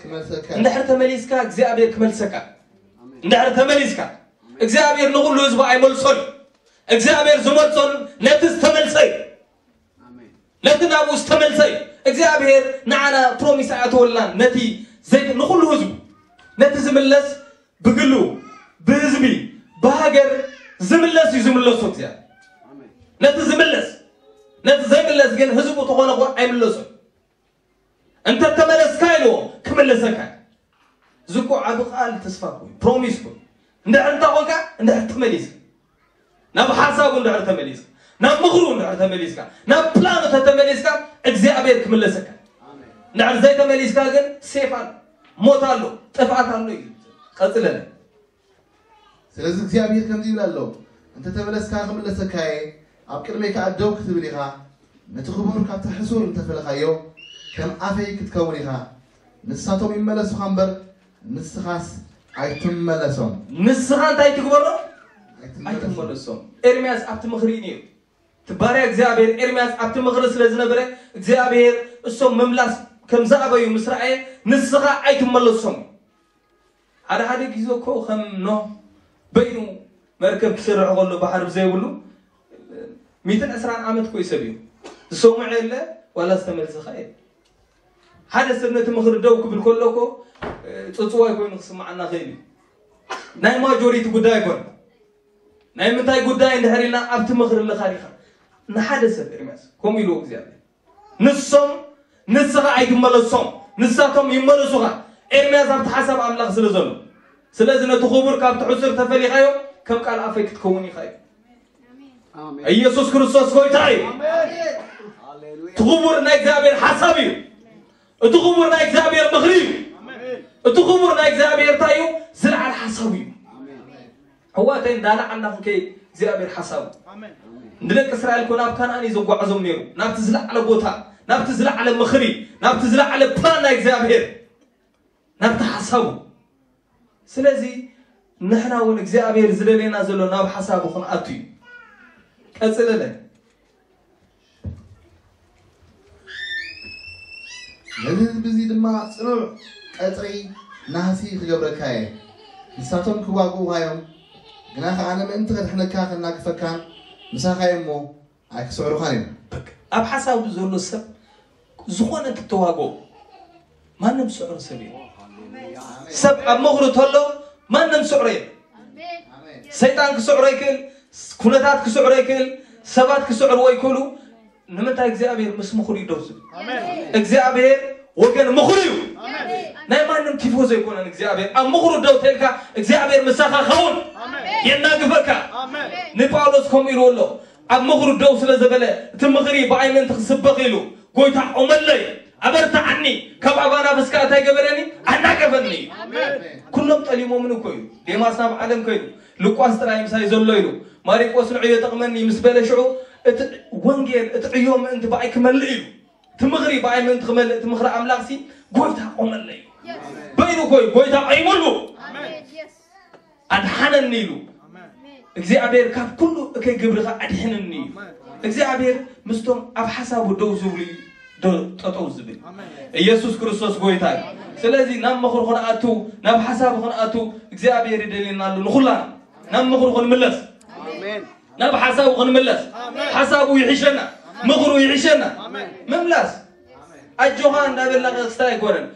ክመልሰካ እየ። እንድሕር ተመሊስካ እግዚኣብሔር ክመልሰካ። እንድሕር ተመሊስካ እግዚኣብሔር ንኹሉ ህዝቡ ኣይመልሶን። እግዚኣብሔር ዝመልሶን ነቲ ዝተመልሰ እዩ። ነቲ ናብኡ ዝተመልሰ እዩ። እግዚኣብሔር ንዓና ፕሮሚስ ኣያተወልናን ነቲ ዘይ-፣ ንኹሉ ህዝቡ ነቲ ዝምለስ ብግሉ፣ ብህዝቢ፣ ብሃገር ዝምለስ እዩ ዝምለሶ እግዚኣብሔር። ነቲ ዝምለስ፣ ነቲ ዘይምለስ ግን ህዝቡ ተኾነ እኮ ኣይምለሶን። እንተ ተመለስካ ኢልዎ ክምለሰካ እዩ። እዚ እኮ ዓቢ ቃል ተስፋ እኮ እዩ፣ ፕሮሚስ እኮ እዩ። እንድሕር እንታይ ኮንካ፣ እንድሕር ተመሊስካ፣ ናብ ሓሳቡ እንድሕር ተመሊስካ፣ ናብ ምኽሩ እንድሕር ተመሊስካ፣ ናብ ፕላኑ ተተመሊስካ፣ እግዚኣብሔር ክምለሰካ። እንድሕር ዘይተመሊስካ ግን ሴፍ ኣሎ፣ ሞት ኣሎ፣ ጥፍኣት ኣሎ እዩ። ቀጽለለ። ስለዚ እግዚኣብሔር ከምዚ ይብል ኣሎ፣ እንተ ተመለስካ ክምለሰካ እየ፣ ኣብ ቅድመይ ከኣ ደው ክትብል ኢኻ፣ ነቲ ክቡር ካብቲ ሕሱር እንተፈለኻዮ፣ ከም ኣፈይ ክትከውን ኢኻ። ንሳቶም ይመለሱኻ እምበር፣ ንስኻስ ኣይትመለሶም። ንስኻ እንታይ ትግበሮ? ኣይትመለሶም። ኣይትመለሶም። ኤርምያስ ኣብቲ ምኽሪ እዩ ነይሩ። እቲ ባርያ እግዚኣብሔር ኤርምያስ ኣብቲ ምኽሪ ስለ ዝነበረ፣ እግዚኣብሔር እሶም ምምላስ ከም ዝኣበዩ ምስ ረኣየ፣ ንስኻ ኣይትመለሶም። ሓደ ሓደ ግዜ እኮ ከም ኖህ በይኑ መርከብ ክሰርሕ ከሎ ባሕሪ ብዘይብሉ፣ ሚእትን ዕስራን ዓመት እኮ ይሰብዩ። ዝሰምዖ የለ፣ ዋላ ዝተመልሰኻ የለ። ሓደ ሰብ ነቲ ምኽሪ ደው ክብል ከሎ እኮ፣ ጽጽዋይ ኮይኑ ክስምዓና ኽእል እዩ። ናይ ማጆሪቲ ጉዳይ ኣይኮነ። ናይ ምንታይ ጉዳይ እንድሕር ኢልና ኣብቲ ምኽሪ ኣለኻ ዲኻ? ንሓደ ሰብ ኤርምያስ ከምኡ ኢልዎ እግዚኣብሔር። ንሶም ንስኻ ኣይትመለሶም፣ ንሳቶም ይመለሱኻ። ኤርምያስ ኣብቲ ሓሳብ ኣምላኽ ስለ ዘሎ። ስለዚ ነቲ ክቡር ካብቲ ሕሱር ተፈሊኻዮ፣ ከም ቃል ኣፈይ ክትከውን ኢኻ እዩ። ኣሜን። ኢየሱስ ክርስቶስ ጎይታ እዩ። ኣሜን። ሃሌሉያ። እቲ ክቡር ናይ እግዚኣብሔር ሓሳብ እዩ። እቲ ክቡር ናይ እግዚኣብሔር ምኽሪ እዩ። ኣሜን። እቲ ክቡር ናይ እግዚኣብሔር እንታይ እዩ? ዝለዓለ ሓሳብ እዩ። ኣሜን። ኣሕዋተይ እንዳለዓልና ክንከይድ እግዚኣብሔር ሓሳቡ። ኣሜን። ንደቂ እስራኤል እኮ ናብ ካናን እዩ ዘጓዓዞም ነይሩ። ናብቲ ዝለዓለ ቦታ፣ ናብቲ ዝለዓለ ምኽሪ፣ ናብቲ ዝለዓለ ፕላን ናይ እግዚኣብሔር፣ ናብቲ ሓሳቡ። ስለዚ ንሕና እውን እግዚኣብሔር ዝደልየና ዘሎ ናብ ሓሳቡ ክንኣቱ እዩ። ቀጽለለ። ነዚ ህዝቢ እዚ ድማ ጽኑዕ ቀጽሪ ናህሲ ክገብረካ እየ። ንሳቶም ክዋግኡኻ እዮም፣ ግና ኸኣ ኣነ ምእንቲ ከድሕነካ ከናግፈካን ምሳኻ እየ እሞ ኣይክስዕሩኻን እዮም። በቃ፣ ኣብ ሓሳቡ ዘሎ ሰብ ዝኾነ እንትተዋግኦ ማንም ዝስዕሮ ሰብ የለን። ሰብ ኣብ ምኽሩ ተሎ ማንም ዝስዕሮ የለን። ኣሜን። ሰይጣን ክስዕሮ ይክእል፣ ኩነታት ክስዕሮ ይክእል፣ ሰባት ክስዕርዎ ይክእሉ። ንምንታይ እግዚኣብሔር ምስ ምኽሩ እዩ ደው ዝብል? ኣሜን። እግዚኣብሔር ወገን ምኽሩ እዩ። ኣሜን። ናይ ማንም ቲፎዞ ኣይኮነን እግዚኣብሔር። ኣብ ምኽሩ ደው ተልካ እግዚኣብሔር ምሳኻ ኸውን የናግፈካ። ንጳውሎስ ከምኡ ኢልዎ ኣሎ። ኣብ ምኽሩ ደው ስለ ዘበለ እቲ ምኽሪ ብኣይ ምእንቲ ክስበኽ ኢሉ ጎይታ ቆመለይ፣ ኣበርትዓኒ፣ ካብ ኣባና ብስካ እንታይ ገበረኒ? ኣናገፈኒ። ኩሎም ጠሊሞምን እኮ እዩ። ዴማስ ናብ ዓለም ከይዱ፣ ልቋስ ጥራይ ምሳይ ዘሎ ኢሉ፣ ማሪቆስ ንዕዮ ጠቕመኒ ምስ በለ ሽዑ እቲ ወንጌል እቲ ዕዮ ምእንቲ ብኣይ ክመልእ ኢሉ፣ እቲ ምኽሪ ብኣይ ምእንቲ ክመልእ እቲ ምኽሪ ኣምላኽሲ ጎይታ ቆመለይ። በይኑ እኮ እዩ ጎይታ ቆይሙሉ። ኣድሓነኒ ኢሉ እግዚኣብሔር ካብ ኩሉ እከይ ግብርኻ ኣድሕንኒ እዩ። እግዚኣብሔር ምስቶም ኣብ ሓሳቡ ደው ዝብሉ እዩ ዶ- ጠጠው ዝብል። ኢየሱስ ክርስቶስ ጎይታ እዩ። ስለዚ ናብ ምኽሩ ክንኣቱ፣ ናብ ሓሳቡ ክንኣቱ እግዚኣብሔር ይደልየና ኣሎ። ንኹላና ናብ ምኽሩ ክንምለስ፣ ናብ ሓሳቡ ክንምለስ። ሓሳቡ ይሕሸና፣ ምኽሩ ይሕሸና። ምምላስ ኣጆኻ እንዳበልና ክስታይ ኣይኮነን።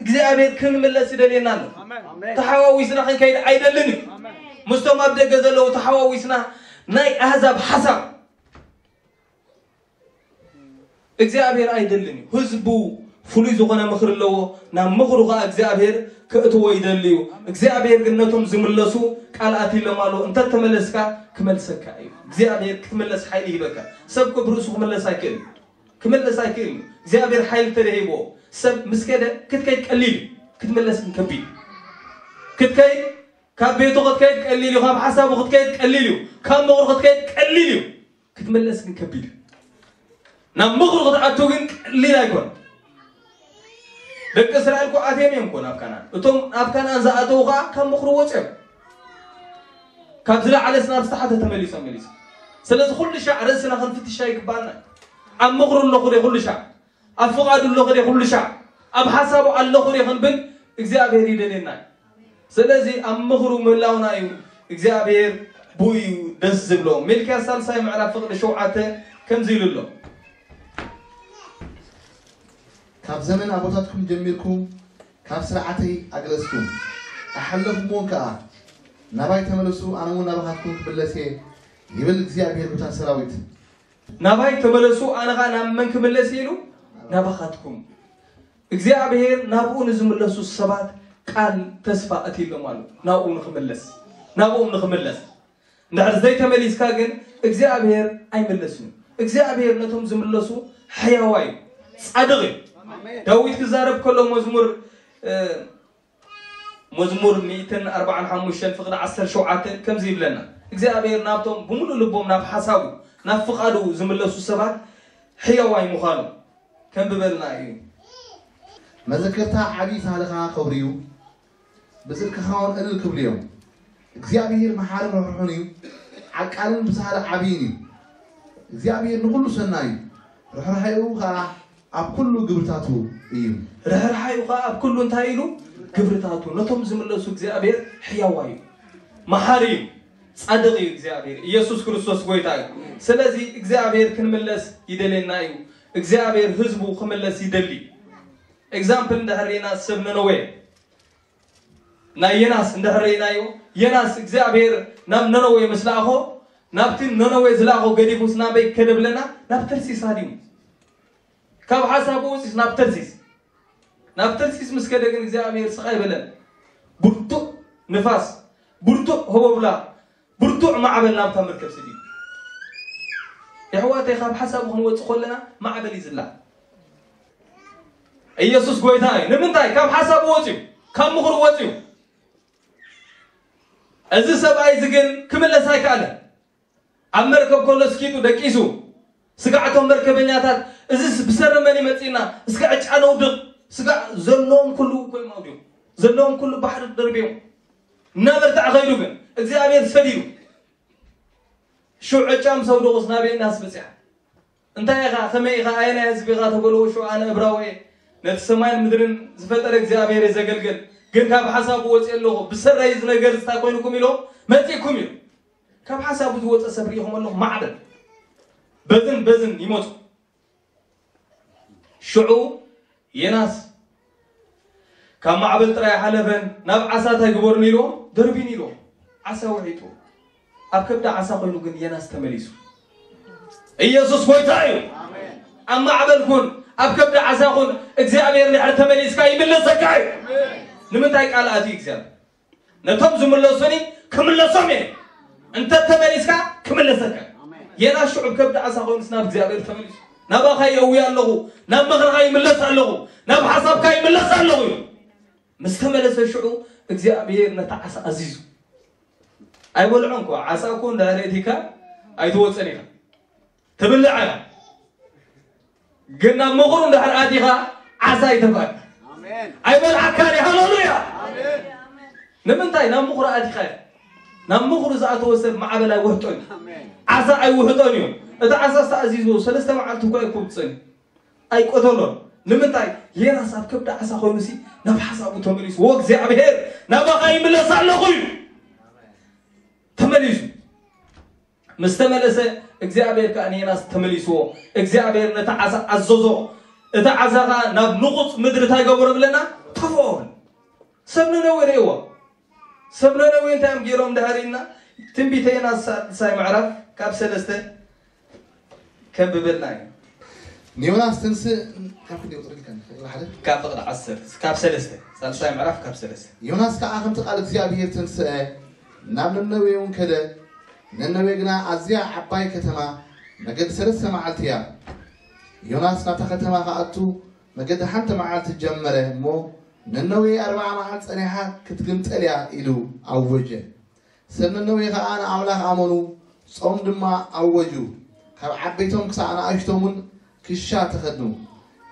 እግዚኣብሔር ክንምለስ ይደልየና ኣሎ። ተሓዋዊስና ክንከይድ ኣይደልን እዩ። ምስቶም ኣብ ደገ ዘለዉ ተሓዋዊስና ናይ ኣህዛብ ሓሳብ እግዚኣብሔር ኣይደልን እዩ። ህዝቡ ፍሉይ ዝኾነ ምኽሪ ኣለዎ። ናብ ምኽሩ ኸዓ እግዚኣብሔር ከእትዎ ይደሊ እዩ። እግዚኣብሔር ግን ነቶም ዝምለሱ ቃል ኣትይሎም ኣሎ። እንተተመለስካ ክመልሰካ እዩ። እግዚኣብሔር ክትምለስ ሓይሊ ይህበካ። ሰብ እኮ ብርእሱ ክምለስ ኣይክእል። ክምለስ ኣይክእል እዩ። እግዚኣብሔር ሓይሊ ተደሂብዎ ሰብ ምስ ከደ ክትከይድ ቀሊል እዩ። ክትምለስ ግን ከቢድ። ክትከይድ ካብ ቤቱ ክትከይድ ቀሊል እዩ። ካብ ሓሳቡ ክትከይድ ቀሊል እዩ። ካብ ምኽሩ ክትከይድ ቀሊል እዩ። ክትምለስ ግን ከቢድ እዩ። ናብ ምኽሩ ክትኣቱ ግን ቀሊል ኣይኮን። ደቂ እስራኤል እኮ ኣትዮም እዮም እኮ ናብ ካናን። እቶም ናብ ካናን ዝኣተዉ ከዓ ካብ ምኽሩ ወፅዮም። ካብ ዝለዓለስ ናብ ዝተሓተ ተመሊሶም መሊሶም። ስለዚ ኩሉ ሻዕ ርእስና ክንፍትሻ ይግባና። ኣብ ምኽሩ ኣለኹ ደ ኩሉ ሻዕ፣ ኣብ ፍቓዱ ኣለኹ ደ ኩሉ ሻዕ፣ ኣብ ሓሳቡ ኣለኹ ደ ክንብል እግዚኣብሔር ይደልየና እዩ። ስለዚ ኣብ ምኽሩ ምህላውና እዩ እግዚኣብሔር ብኡ እዩ ደስ ዝብሎ። ሚልክያስ ሳልሳይ ምዕራፍ ፍቕዲ ሸውዓተ ከምዚ ኢሉ ኣሎ። ካብ ዘመን ኣቦታትኩም ጀሚርኩም ካብ ስርዓተይ ኣግለስኩም ኣሓለፍኩምዎን ከኣ፣ ናባይ ተመለሱ፣ ኣነ እውን ናባኻትኩም ክምለስ እየ፣ ይብል እግዚኣብሔር ጉታ ሰራዊት። ናባይ ተመለሱ፣ ኣነ ኸኣ ናብ መን ክምለስ እየ ኢሉ? ናባኻትኩም። እግዚኣብሔር ናብኡ ንዝምለሱ ሰባት ቃል ተስፋ ኣትይሎም ኣሎ። ናብኡ ንኽምለስ፣ ናብኡ ንኽምለስ። እንድሕር ዘይተመሊስካ ግን እግዚኣብሔር ኣይምለስን እዩ። እግዚኣብሔር ነቶም ዝምለሱ ሕያዋይ እዩ፣ ጻድቕ እዩ። ዳዊት ክዛረብ ከሎ መዝሙር፣ እ፣ መዝሙር ሚእትን ኣርባዓን ሓሙሽተን ፍቕዲ ዓሰርተ ሸውዓተ ከምዚ ይብለና፣ እግዚኣብሔር ናብቶም ብምሉእ ልቦም ናብ ሓሳቡ ናብ ፍቓዱ ዝምለሱ ሰባት ሕያዋይ ምዃኑ ከንብበልና እዩ። መዘከርታ ዓብዪ ሳህልኻ ከብርዩ፣ ብጽድቅኻ እውን እልል ክብሉ እዮም። እግዚኣብሔር መሓርን ርሕሩሕን እዩ፣ ዓቃልን ብሳህሊ ዓብይን እዩ። እግዚኣብሔር ንኹሉ ሰናይ እዩ፣ ርሕራሄኡ ኸኣ ኣብ ኩሉ ግብርታቱ እዩ። ርሕራሄኡ ኸኣ ኣብ ኩሉ እንታይ ኢሉ? ግብርታቱ። ነቶም ዝምለሱ እግዚኣብሔር ሕያዋይ እዩ፣ መሓሪ እዩ፣ ጻድቕ እዩ እግዚኣብሔር። ኢየሱስ ክርስቶስ ጎይታ እዩ። ስለዚ እግዚኣብሔር ክንምለስ ይደልየና እዩ። እግዚኣብሔር ህዝቡ ክምለስ ይደሊ። ኤግዛምፕል እንድሕር ርኢና ሰብ ነነዌ ናይ የናስ እንድሕር ርኢናዮ፣ የናስ እግዚኣብሔር ናብ ነነዌ ምስ ለኣኾ፣ ናብቲ ነነዌ ዝለኣኾ ገዲፉስ ናበይ ከደ ብለና? ናብ ተርሲስ ሃዲሙ። ካብ ሓሳቡ ወፂስ ናብ ተርሲስ። ናብ ተርሲስ ምስ ከደ ግን እግዚኣብሔር ስቕ ኣይበለን። ብርቱዕ ንፋስ፣ ብርቱዕ ህቦብላ፣ ብርቱዕ ማዕበል ናብታ መርከብ ስዲዱ። የሕዋተይ፣ ካብ ሓሳቡ ክንወፅእ ከለና ማዕበል እዩ ዝላ። ኢየሱስ ጎይታ እዩ። ንምንታይ? ካብ ሓሳቡ ወፅዩ፣ ካብ ምኽሩ ወፅዩ። እዚ ሰብኣይ እዚ ግን ክምለስ ኣይከኣለን። ኣብ መርከብ ከሎ ስኪጡ ደቂሱ፣ ስጋዕቶም መርከበኛታት፣ እዚስ ብሰሪ መን ይመጽእና? እስከ ዕጫ ነውድቕ። ስጋዕ ዘለዎም ኩሉ እኮ እዮም ኣውዲቖም። ዘለዎም ኩሉ ባሕሪ ደርብዮም። እናበርትዐ ኸይዱ ግን እግዚኣብሔር ሰዲዱ። ሽዑ ዕጫ ምስ ኣውደቑስ ናበይ እናስ በጽሐ? እንታይ ኢኻ? ከመይ ኢኻ? ኣየናይ ህዝቢ ኢኻ? ተበልዎ ሽዑ ኣነ እብራዊ እየ። ነቲ ሰማይን ምድርን ዝፈጠረ እግዚኣብሔር እየ ዘገልግል። ግን ካብ ሓሳቡ ወፅየ ኣለኹ። ብሰረይ እዚ ነገር እዚ እንታይ ኮይኑኩም ኢሎም መፂእኩም እዩ። ካብ ሓሳቡ ዝወፀ ሰብ ርኢኹም ኣለኹ። ማዕበል በዝን በዝን ይመፁ። ሽዑ ዮናስ ካብ ማዕበል ጥራይ ሓለፈን ናብ ዓሳ እንታይ ግበሩኒ ኢልዎም? ደርቢኒ ኢልዎም። ዓሳ ውሒጡ። ኣብ ከብዲ ዓሳ ኮይኑ ግን ዮናስ ተመሊሱ። ኢየሱስ ጎይታ እዩ። ኣብ ማዕበል ኩን፣ ኣብ ከብዲ ዓሳ ኹን እግዚኣብሔር ድሕሪ ተመሊስካ ይምለሰካ እዩ። ንምንታይ ቃል ኣትዩ እግዚኣብሔር? ነቶም ዝምለሱኒ ክምለሶም እየ። እንተ ተመሊስካ ክምለሰካ። ዮናስ ሽዑ ከብዲ ዓሳ ኮይኑስ ናብ እግዚኣብሔር ተመሊሱ። ናባኻ የእዊ ኣለኹ፣ ናብ ምኽርኻ ይምለስ ኣለኹ፣ ናብ ሓሳብካ ይምለስ ኣለኹ እዩ። ምስ ተመለሰ ሽዑ እግዚኣብሔር ነታ ዓሳ ኣዚዙ። ኣይበልዖን እኮ፣ ዓሳ እኮ እንዳረእቲካ ኣይትወፅን ኢኻ። ትብልዕ ኢኻ። ግን ናብ ምኽሩ እንድሕር ኣቲኻ ዓሳ ይተፍኣካ። ኣይበልዓካን እዩ። ሃሌሉያ። ንምንታይ ናብ ምኽሩ ኣቲኻ? ናብ ምኽሩ ዝኣተወ ሰብ ማዕበል ኣይውሕጦን እዩ። ዓሳ ኣይውሕጦን እዩ። እቲ ዓሳ ዝተኣዚዙ ሰለስተ መዓልቲ እኳ ኣይኮብፅን፣ ኣይቆተሎን። ንምንታይ? ዮናስ ኣብ ከብዲ ዓሳ ኮይኑሲ ናብ ሓሳቡ ተመሊሱ። ወእግዚኣብሔር ናባኻ ይምለስ ኣለኹ እዩ ተመሊሱ። ምስ ተመለሰ እግዚኣብሔር ከኣ ንዮናስ ተመሊስዎ። እግዚኣብሔር ነቲ ዓሳ ኣዘዞ። እቲ ዓሳ ከኣ ናብ ንቑጽ ምድሪ እንታይ ገበሮ ብለና? ተፍኦ። ሰብ ነነዌ ርእይዎ። ሰብ ነነዌ እንታይ እዮም ገይሮም ድሕር ኢልና? ትንቢተ ዮናስ ሳልሳይ ምዕራፍ ካብ ሰለስተ ከንብበልና እዩ። ንዮናስ ትንስእ ካብ ክንደይ ቁጽሪ ኢልካ ንኽእል ሓደ? ካብ ፍቕዲ ዓሰርተ፣ ካብ ሰለስተ፣ ሳልሳይ ምዕራፍ ካብ ሰለስተ። ዮናስ ከኣ ከምቲ ቃል እግዚኣብሔር ተንስአ፣ ናብ ነነዌ እውን ከደ። ነነዌ ግና ኣዝያ ዓባይ ከተማ፣ መገዲ ሰለስተ መዓልቲ እያ። ዮናስ ናብታ ከተማ ክኣቱ መገዲ ሓንቲ መዓልቲ ጀመረ እሞ፣ ነነዌ ኣርብዓ መዓልቲ ጸኒሓ ክትግምጠል እያ ኢሉ ኣወጀ። ሰብ ነነዌ ኸኣ ንኣምላኽ ኣመኑ፣ ጾም ድማ ኣወጁ። ካብ ዓበይቶም ክሳዕ ንኣሽቶምን ክሻ ተኸድኑ።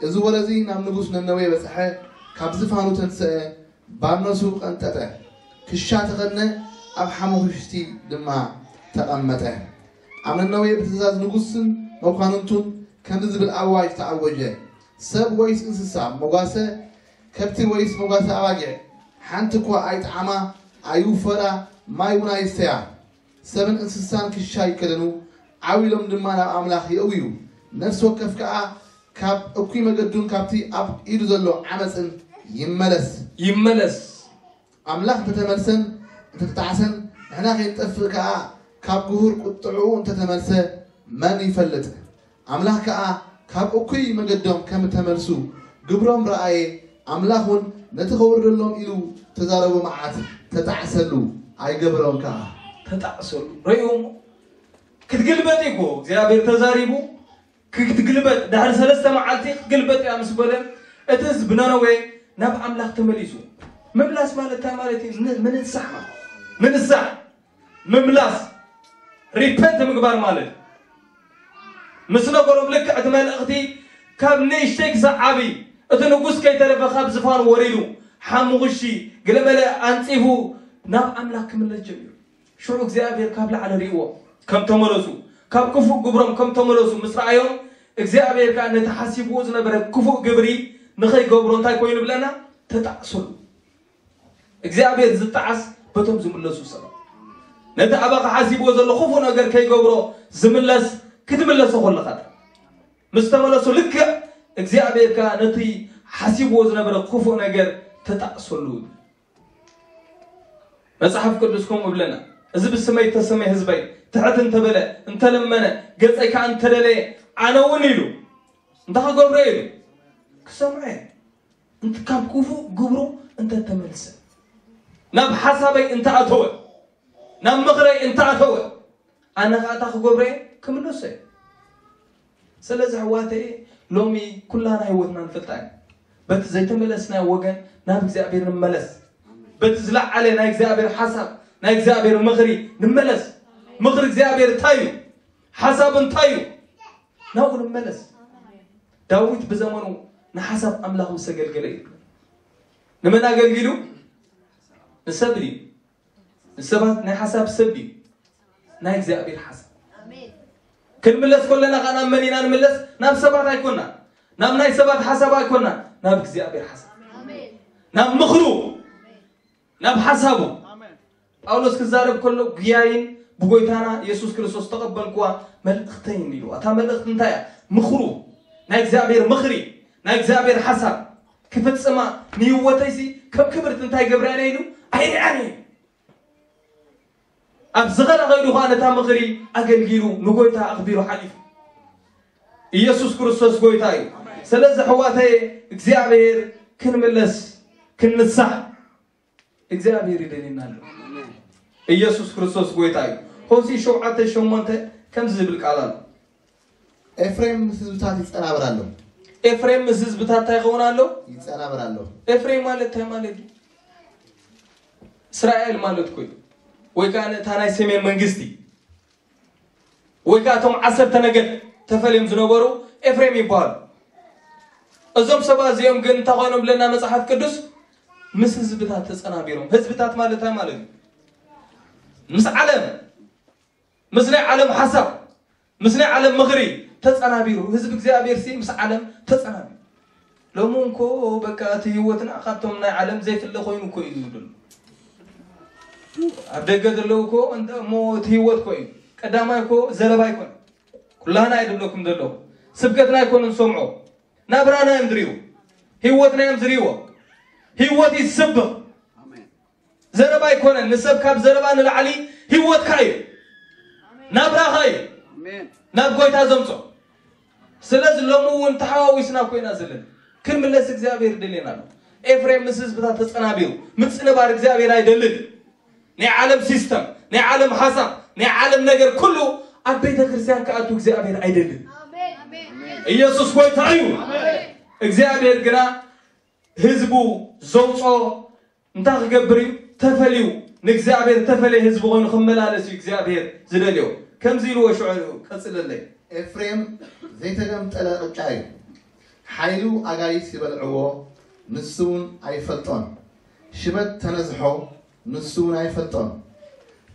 እዚ ወረ እዚ ናብ ንጉስ ነነዌ በጽሐ፣ ካብ ዝፋኑ ተንስአ፣ ባርነሱ ቀንጠጠ፣ ክሻ ተኸድነ፣ ኣብ ሓሙኽሽቲ ድማ ተቐመጠ። ኣብ ነነዌ ብትእዛዝ ንጉስን መኳንንቱን ከምዚ ዝብል ኣዋጅ ተኣወጀ፣ ሰብ ወይስ እንስሳ መጓሰ፣ ከብቲ ወይስ መጓሰ ኣባጊዕ፣ ሓንቲ እኳ ኣይጠዓማ፣ ኣይውፈራ፣ ማይ እውን ኣይስተያ። ሰብን እንስሳን ክሻ ይከደኑ፣ ዓው ኢሎም ድማ ናብ ኣምላኽ የእውዩ። ነፍሲ ወከፍ ከኣ ካብ እኩይ መገዱን ካብቲ ኣብ ኢዱ ዘሎ ዓመፅን ይመለስ። ይመለስ። ኣምላኽ እንተተመልሰን እንተተጣዕሰን፣ ንሕና ከይንጠፍእ ከኣ ካብ ግሁር ቁጥዕኡ እንተተመልሰ መን ይፈልጥ? ኣምላኽ ከኣ ካብ እኩይ መገዶም ከም እተመልሱ ግብሮም ረኣየ። ኣምላኽ እውን ነቲ ከውርደሎም ኢሉ ተዛረቦ መዓት ተጣዕሰሉ፣ ኣይገበሮም ከኣ። ተጣዕሰሉ። ረእይዎ እሞ ክትግልበጥ እዩ እኮ እግዚኣብሔር ተዛሪቡ። ክትግልበጥ ድሕሪ ሰለስተ መዓልቲ ክትግልበጥ እያ ምስ በለ እቲ ህዝቢ ነነዌ ናብ ኣምላኽ ተመሊሱ። ምምላስ ማለት እንታይ ማለት እዩ? ን- ምንሳሕ ማለት ምንሳሕ ምምላስ ሪፐንት ምግባር ማለት ምስ ነገሮም ልክዕ እቲ መልእኽቲ ካብ ንእሽተይ ክሳብ ዓብዪ እቲ ንጉስ ከይተረፈ ካብ ዝፋኑ ወሪዱ ሓሙኽሺ ገለመለ ኣንጺፉ ናብ ኣምላኽ ክምለስ ጀሚሩ። ሽዑ እግዚኣብሔር ካብ ላዕሊ ርእይዎ ከም ተመለሱ ካብ ክፉእ ግብሮም ከም ተመለሱ ምስ ረኣዮም እግዚኣብሔር ከዓ ነቲ ሓሲብዎ ዝነበረ ክፉእ ግብሪ ንኸይገብሮ እንታይ ኮይኑ ብለና ተጣዕሰሉ። እግዚኣብሔር ዝጠዓስ በቶም ዝምለሱ ሰባት ነቲ ኣባኻ ሓሲብዎ ዘሎ ክፉእ ነገር ከይገብሮ ዝምለስ ክትምለሶ ከለኻ ምስ ተመለሱ ልክዕ እግዚኣብሔር ከዓ ነቲ ሓሲብዎ ዝነበረ ክፉእ ነገር ተጣዕሰሉ። መጽሓፍ ቅዱስ ከምኡ ይብለና፣ እዚ ብስመይ እተሰመየ ህዝበይ ትሕት እንተበለ እንተለመነ ገጸይ ከዓ እንተደለየ ኣነ እውን ኢሉ እንታይ ክገብሮ ኢሉ ክሰምዖ እየ። እንት ካብ ክፉእ ግብሩ እንተተመልሰ ናብ ሓሳበይ እንተኣተወ ናብ ምኽረይ እንተኣተወ ኣነ ከዓ እታ ክገብሮ እየ ክምለሶ እየ። ስለዚ ኣሕዋተየ ሎሚ ኩላና ህይወትና ንፈልጣ ኢና። በቲ ዘይተመለስናዮ ወገን ናብ እግዚኣብሔር ንመለስ። በቲ ዝለዓለ ናይ እግዚኣብሔር ሓሳብ ናይ እግዚኣብሔር ምኽሪ ንመለስ። ምኽሪ እግዚኣብሔር እንታይ እዩ? ሓሳብ እንታይ እዩ? ናብኡ ንመለስ። ዳዊት ብዘመኑ ንሓሳብ ኣምላኽ ምስ ኣገልገለ እዩ። ንመን ኣገልጊሉ? ንሰብ ድዩ? ንሰባት ናይ ሓሳብ ሰብ ድዩ? ናይ እግዚኣብሔር ሓሳብ። ክንምለስ ከለና ከዓ ናብ መን ኢና ንምለስ? ናብ ሰባት ኣይኮና። ናብ ናይ ሰባት ሓሳብ ኣይኮና። ናብ እግዚኣብሔር ሓሳብ። ናብ ምኽሩ። ናብ ሓሳቡ። ጳውሎስ ክዛረብ ከሎ ጉያይን ብጎይታና የሱስ ክርስቶስ ተቐበልኩዋ መልእኽተይን ኢሉ። እታ መልእኽቲ እንታይ እያ? ምኽሩ። ናይ እግዚኣብሔር ምኽሪ። ናይ እግዚኣብሔር ሓሳብ ክፍጽማ ንህይወተይሲ ከም ክብርቲ እንታይ ገብራ እየ ኢሉ ኣይርኣን እየ። ኣብ ዝኸነ ከይዱ ኸዓ ነታ ምኽሪ ኣገልጊሉ ንጎይታ ኣኽቢሩ ሓሊፉ። ኢየሱስ ክርስቶስ ጎይታ እዩ። ስለዚ ኣሕዋተየ እግዚኣብሔር ክንምለስ ክንንሳሕ እግዚኣብሔር ይደልየና ኣሎ። ኢየሱስ ክርስቶስ ጎይታ እዩ። ሆሲ ሸውዓተ ሸሞንተ ከምዚ ዝብል ቃል ኣሎ። ኤፍሬም ምስ ህዝብታት ይጸናበር ኣሎ። ኤፍሬም ምስ ህዝብታት እንታይ ይኸውን ኣሎ? ይጸናበር ኣሎ። ኤፍሬም ማለት እንታይ ማለት እዩ? እስራኤል ማለት እኮ እዩ። ወይ ከዓ ነታ ናይ ሰሜን መንግስቲ ወይ ከዓ እቶም ዓሰርተ ነገድ ተፈልዮም ዝነበሩ ኤፍሬም ይበሃሉ። እዞም ሰባት እዚኦም ግን እንታይ ኮይኖም ብለና መፅሓፍ ቅዱስ? ምስ ህዝብታት ተፀናቢሮም። ህዝብታት ማለት እንታይ ማለት እዩ? ምስ ዓለም፣ ምስ ናይ ዓለም ሓሳብ፣ ምስ ናይ ዓለም ምኽሪ ተፀናቢሩ። ህዝቢ እግዚኣብሔር ሲ ምስ ዓለም ተፀናቢሩ። ሎሚ እንኮ በቃ እቲ ህይወትና ካብቶም ናይ ዓለም ዘይፍለ ኮይኑ እኮ እዩ ዘሎ። ኣብ ደገ ዘለዉ እኮ እንተ እሞ እቲ ህይወት እኮ እዩ። ቀዳማይ እኮ ዘረባ ኣይኮነ። ኩላህና ኣይደለኩም ዘለኹ። ስብከትና ኣይኮነ ንሰምዖ። ናብራና እዮም ዝርእዩ። ህይወትና እዮም ዝርእይዎ። ህይወት ይስብኽ። ዘረባ ኣይኮነን። ንሰብ ካብ ዘረባ ንላዕሊ ህይወትካ እዩ። ናብራኻ እዩ ናብ ጎይታ ዘምጾ። ስለዚ ሎሚ እውን ተሓዋዊስና ኮይና ዘለና ክንምለስ እግዚኣብሔር ይደልየና ኣሎ። ኤፍሬም ምስ ህዝብታት ተጸናቢሩ ምጽንባር እግዚኣብሔር ኣይደልን። ናይ ዓለም ሲስተም፣ ናይ ዓለም ሓሳብ፣ ናይ ዓለም ነገር ኩሉ ኣብ ቤተ ክርስቲያን ክኣቱ እግዚኣብሔር ኣይደልን። ኢየሱስ ጎይታ እዩ። እግዚኣብሔር ግና ህዝቡ ዘውጾ እንታይ ክገብር እዩ? ተፈልዩ ንእግዚኣብሔር ተፈለየ ህዝቢ ኮይኑ ክመላለስ እዩ እግዚኣብሔር ዝደልዮ። ከምዚ ኢልዎ ሽዑ ቀጽለለይ። ኤፍሬም ዘይተገምጠለ ቅጫ እዩ። ሓይሉ ኣጋይስ ይበልዕዎ፣ ንሱ እውን ኣይፈልጦን። ሽበት ተነዝሖ፣ ንሱ እውን ኣይፈልጦን።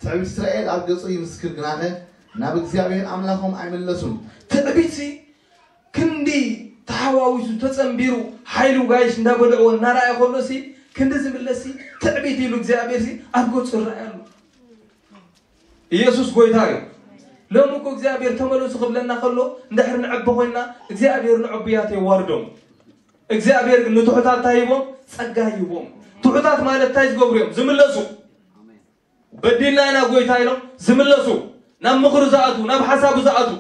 ትዕቢት እስራኤል ኣብ ገጹ ይምስክር፣ ግናኸ ናብ እግዚኣብሔር ኣምላኾም ኣይምለሱን። ትዕቢት ክንዲ ተሓዋዊሱ ተጸንቢሩ ሓይሉ ጋይሽ እንዳበልዕዎ እናረኣየ ከሎ ሲ ክንዲ ዝምለስ ሲ ትዕቢት ኢሉ እግዚኣብሔር ሲ ኣብ ገጹ ይረኣይ ኣሎ። ኢየሱስ ጎይታ እዩ። ሎሚ እኮ እግዚኣብሔር ተመለሱ ክብለና ከሎ እንድሕር ንዕቢ ኮይና እግዚኣብሔር ንዕቡያት የዋርዶም። እግዚኣብሔር ግን ንትሑታት እንታይ ሂቦም? ጸጋ ሂቦም። ትሑታት ማለት እንታይ ዝገብሩ እዮም? ዝምለሱ። በዲልና ኢና ጎይታ ኢሎም ዝምለሱ፣ ናብ ምኽሩ ዝኣቱ፣ ናብ ሓሳቡ ዝኣቱ።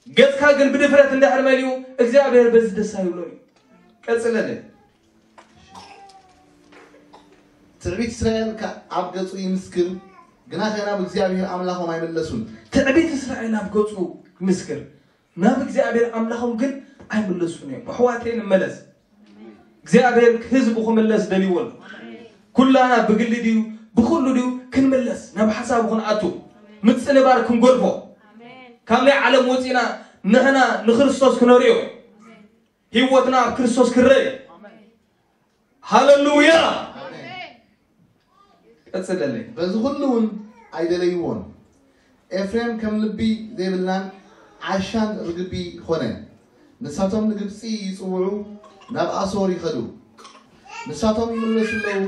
ገጽካ ግን ብድፍረት እንድሕር መሊኡ እግዚኣብሔር በዚ ደስ ኣይብሎን እዩ። ቀጽለለይ። ትዕቢት እስራኤል ከ ኣብ ገጹ ይምስክር፣ ግናኸ ናብ እግዚኣብሔር ኣምላኾም ኣይምለሱን። ትዕቢት እስራኤል ኣብ ገጹ ይምስክር፣ ናብ እግዚኣብሔር ኣምላኾም ግን ኣይምለሱን እዮም። ኣሕዋተይ ንመለስ። እግዚኣብሔር ህዝቡ ክምለስ ደልይዎ ኣሎ። ኩላና ብግሊ ድዩ ብኹሉ ድዩ ክንምለስ ናብ ሓሳቡ ክንኣቱ ምጽንባር ክንጎድፎ ካብ ናይ ዓለም ወፂና ንሕና ንክርስቶስ ክነርእዮ ህይወትና ኣብ ክርስቶስ ክረእ ሃለሉያ ቀፅለለይ በዚ ኩሉ እውን ኣይደለይዎን ኤፍሬም ከም ልቢ ዘይብላን ዓሻን ርግቢ ኾነ ንሳቶም ንግብፂ ይፅውዑ ናብ ኣሶር ይኸዱ ንሳቶም ይምለሱ ኣለዉ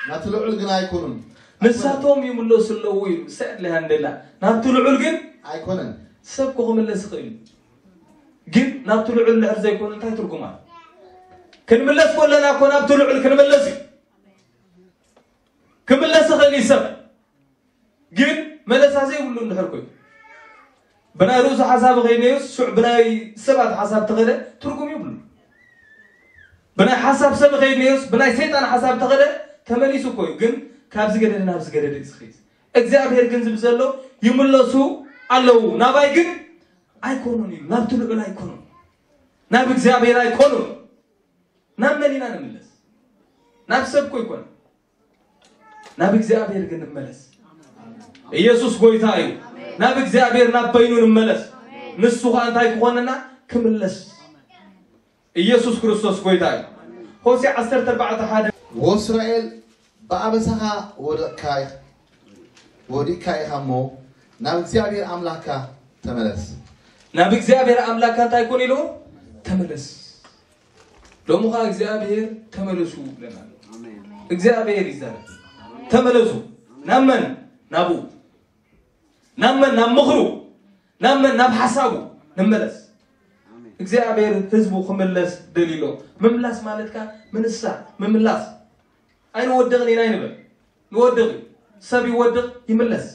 ናብቲ ልዑል ግና ኣይኮኑን ንሳቶም ይምለሱ ኣለዉ እዩ ሰድ ለሃንደላ ናብቲ ልዑል ግን ኣይኮነን ሰብ ክምለስ ይኽእል እዩ ግን ናብቲ ልዑል ልዕል ዘይኮኑ እንታይ ትርጉም ኣሎ ክንምለስ ከለና እኮ ናብቲ ልዑል ክንምለስ እዩ ክምለስ ይኽእል እዩ ሰብ ግን መለሳ ዘይብሉ እንድሕር ኮይኑ ብናይ ርእሱ ሓሳብ ኸይድ ነዩስ ሽዕ ብናይ ሰባት ሓሳብ ተኸደ ትርጉም ይብሉ ብናይ ሓሳብ ሰብ ኸይድ ነዩስ ብናይ ሰይጣን ሓሳብ ተኸደ ተመሊሱ እኮ እዩ ግን ካብ ዝገደደ ናብ ዝገደደ እዩ ዝኸይድ እግዚኣብሔር ግን ዝብ ዘሎ ይምለሱ ኣለዉ ናባይ ግን ኣይኮኑን እዩ ናብቲ ልዑል ኣይኮኑን ናብ እግዚኣብሔር ኣይኮኑን ናብ መን ኢና ንምለስ ናብ ሰብ እኮ ይኮን ናብ እግዚኣብሔር ግን ንመለስ ኢየሱስ ጎይታ እዩ ናብ እግዚኣብሔር ናብ በይኑ ንመለስ ንሱ ከዓ እንታይ ክኾነና ክምለስ ኢየሱስ ክርስቶስ ጎይታ እዩ ሆሴ ዓሰርተ ኣርባዕተ ሓደ ወእስራኤል ብኣበሳኻ ወደቕካ ወዲቕካ ኢኻ እሞ ናብ እግዚኣብሔር ኣምላኽካ ተመለስ ናብ እግዚኣብሔር ኣምላኽካ እንታይ ኩን ኢሉ ተመለስ ሎሚ ኸዓ እግዚኣብሔር ተመለሱ ብለና እግዚኣብሔር ይዛረብ ተመለሱ ናብ መን ናብኡ ናብ መን ናብ ምኽሩ ናብ መን ናብ ሓሳቡ ንመለስ እግዚኣብሔር ህዝቡ ክምለስ ደልዩ ኣሎ ምምላስ ማለትካ ምንሳ ምምላስ ኣይንወድቕን ኢና ይንበል ንወድቕ እዩ ሰብ ይወድቕ ይምለስ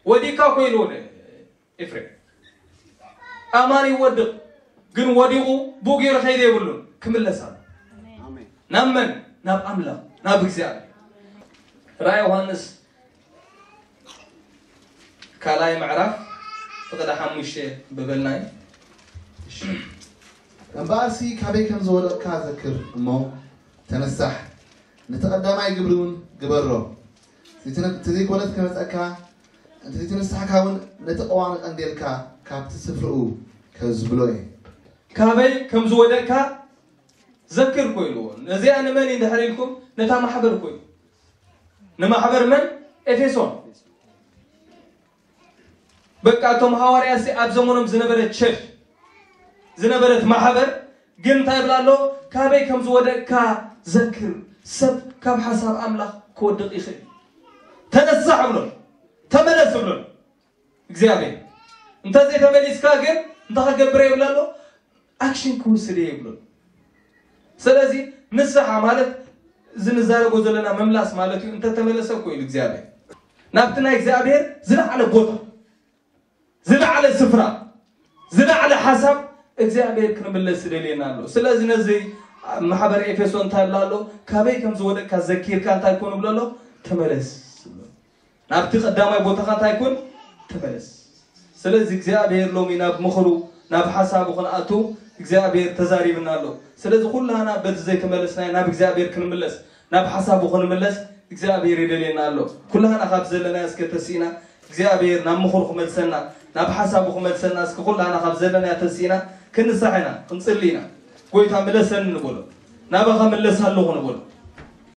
ወዲካ እኮ ኢልዎ ኤፍሬም ኣማን ይወድቕ ግን ወዲቑ ብኡ ገይሩ ከይደ የብሉን፣ ክምለስ ኣሎ። ናብ መን? ናብ ኣምላኽ፣ ናብ እግዚኣብሔር። ራእይ ዮሃንስ ካልኣይ ምዕራፍ ፍቕዲ ሓሙሽተ ብበልናይ። እምበኣርሲ ካበይ ከም ዝወደቕካ ዘክር እሞ ተነሳሕ፣ ነቲ ቀዳማይ ግብሪ እውን ግበሮ። እቲ ዘይኮነት ክመፀካ፣ እንተ ዘይተነሳሕካ እውን ነቲ ቀዋሚ ቀንዴልካ ካብቲ ስፍርኡ ከዝብሎ እየ። ካበይ ከም ዝወደቅካ ዘክር እኮ ኢልዎ። ነዚኣ ንመን እዩ እንድሕር ኢልኩም፣ ነታ ማሕበር እኮ እዩ። ንማሕበር መን? ኤፌሶን። በቃ እቶም ሃዋርያሲ ኣብ ዘመኖም ዝነበረት ቸርች፣ ዝነበረት ማሕበር ግን እንታይ ይብላ ኣሎ? ካበይ ከም ዝወደቅካ ዘክር። ሰብ ካብ ሓሳብ ኣምላኽ ክወድቕ ይኽእል። ተነሳሕ ብሎ፣ ተመለስ ብሎ እግዚኣብሔር። እንተዘይተመሊስካ ግን እንታይ ክገብር ይብላ ኣሎ? ኣክሽን ክውስድ እየ ይብሎ። ስለዚ ንስሓ ማለት እዚ ንዛረቦ ዘለና ምምላስ ማለት እዩ። እንተተመለሰ እኮ ኢሉ እግዚኣብሔር ናብቲ ናይ እግዚኣብሔር ዝለዓለ ቦታ፣ ዝለዓለ ስፍራ፣ ዝለዓለ ሓሳብ እግዚኣብሔር ክንምለስ ይደልየና ኣሎ። ስለዚ ነዚ ማሕበር ኤፌሶን እንታይ ይብላ ኣሎ? ካበይ ከም ዝወደቅካ ዘኪርካ እንታይ ኮን ብሎ ኣሎ? ተመለስ። ናብቲ ቀዳማይ ቦታኻ እንታይ ኮን? ተመለስ። ስለዚ እግዚኣብሔር ሎሚ ናብ ምኽሩ፣ ናብ ሓሳቡ ክንኣቱ እግዚኣብሔር ተዛሪብና ኣሎ። ስለዚ ኩላና በቲ ዘይተመለስናዮ ናብ እግዚኣብሔር ክንምለስ፣ ናብ ሓሳቡ ክንምለስ እግዚኣብሔር ይደልየና ኣሎ። ኩላና ካብ ዘለናዮ እስከ ተሲእና እግዚኣብሔር ናብ ምኽሩ ክመልሰና፣ ናብ ሓሳቡ ክመልሰና እስከ ኩላና ካብ ዘለናዮ ተሲእና ክንሳሕ ኢና፣ ክንጽሊ ኢና። ጎይታ ምለሰኒ ንበሎ። ናባኻ ምለስ ኣለኹ ንበሎ።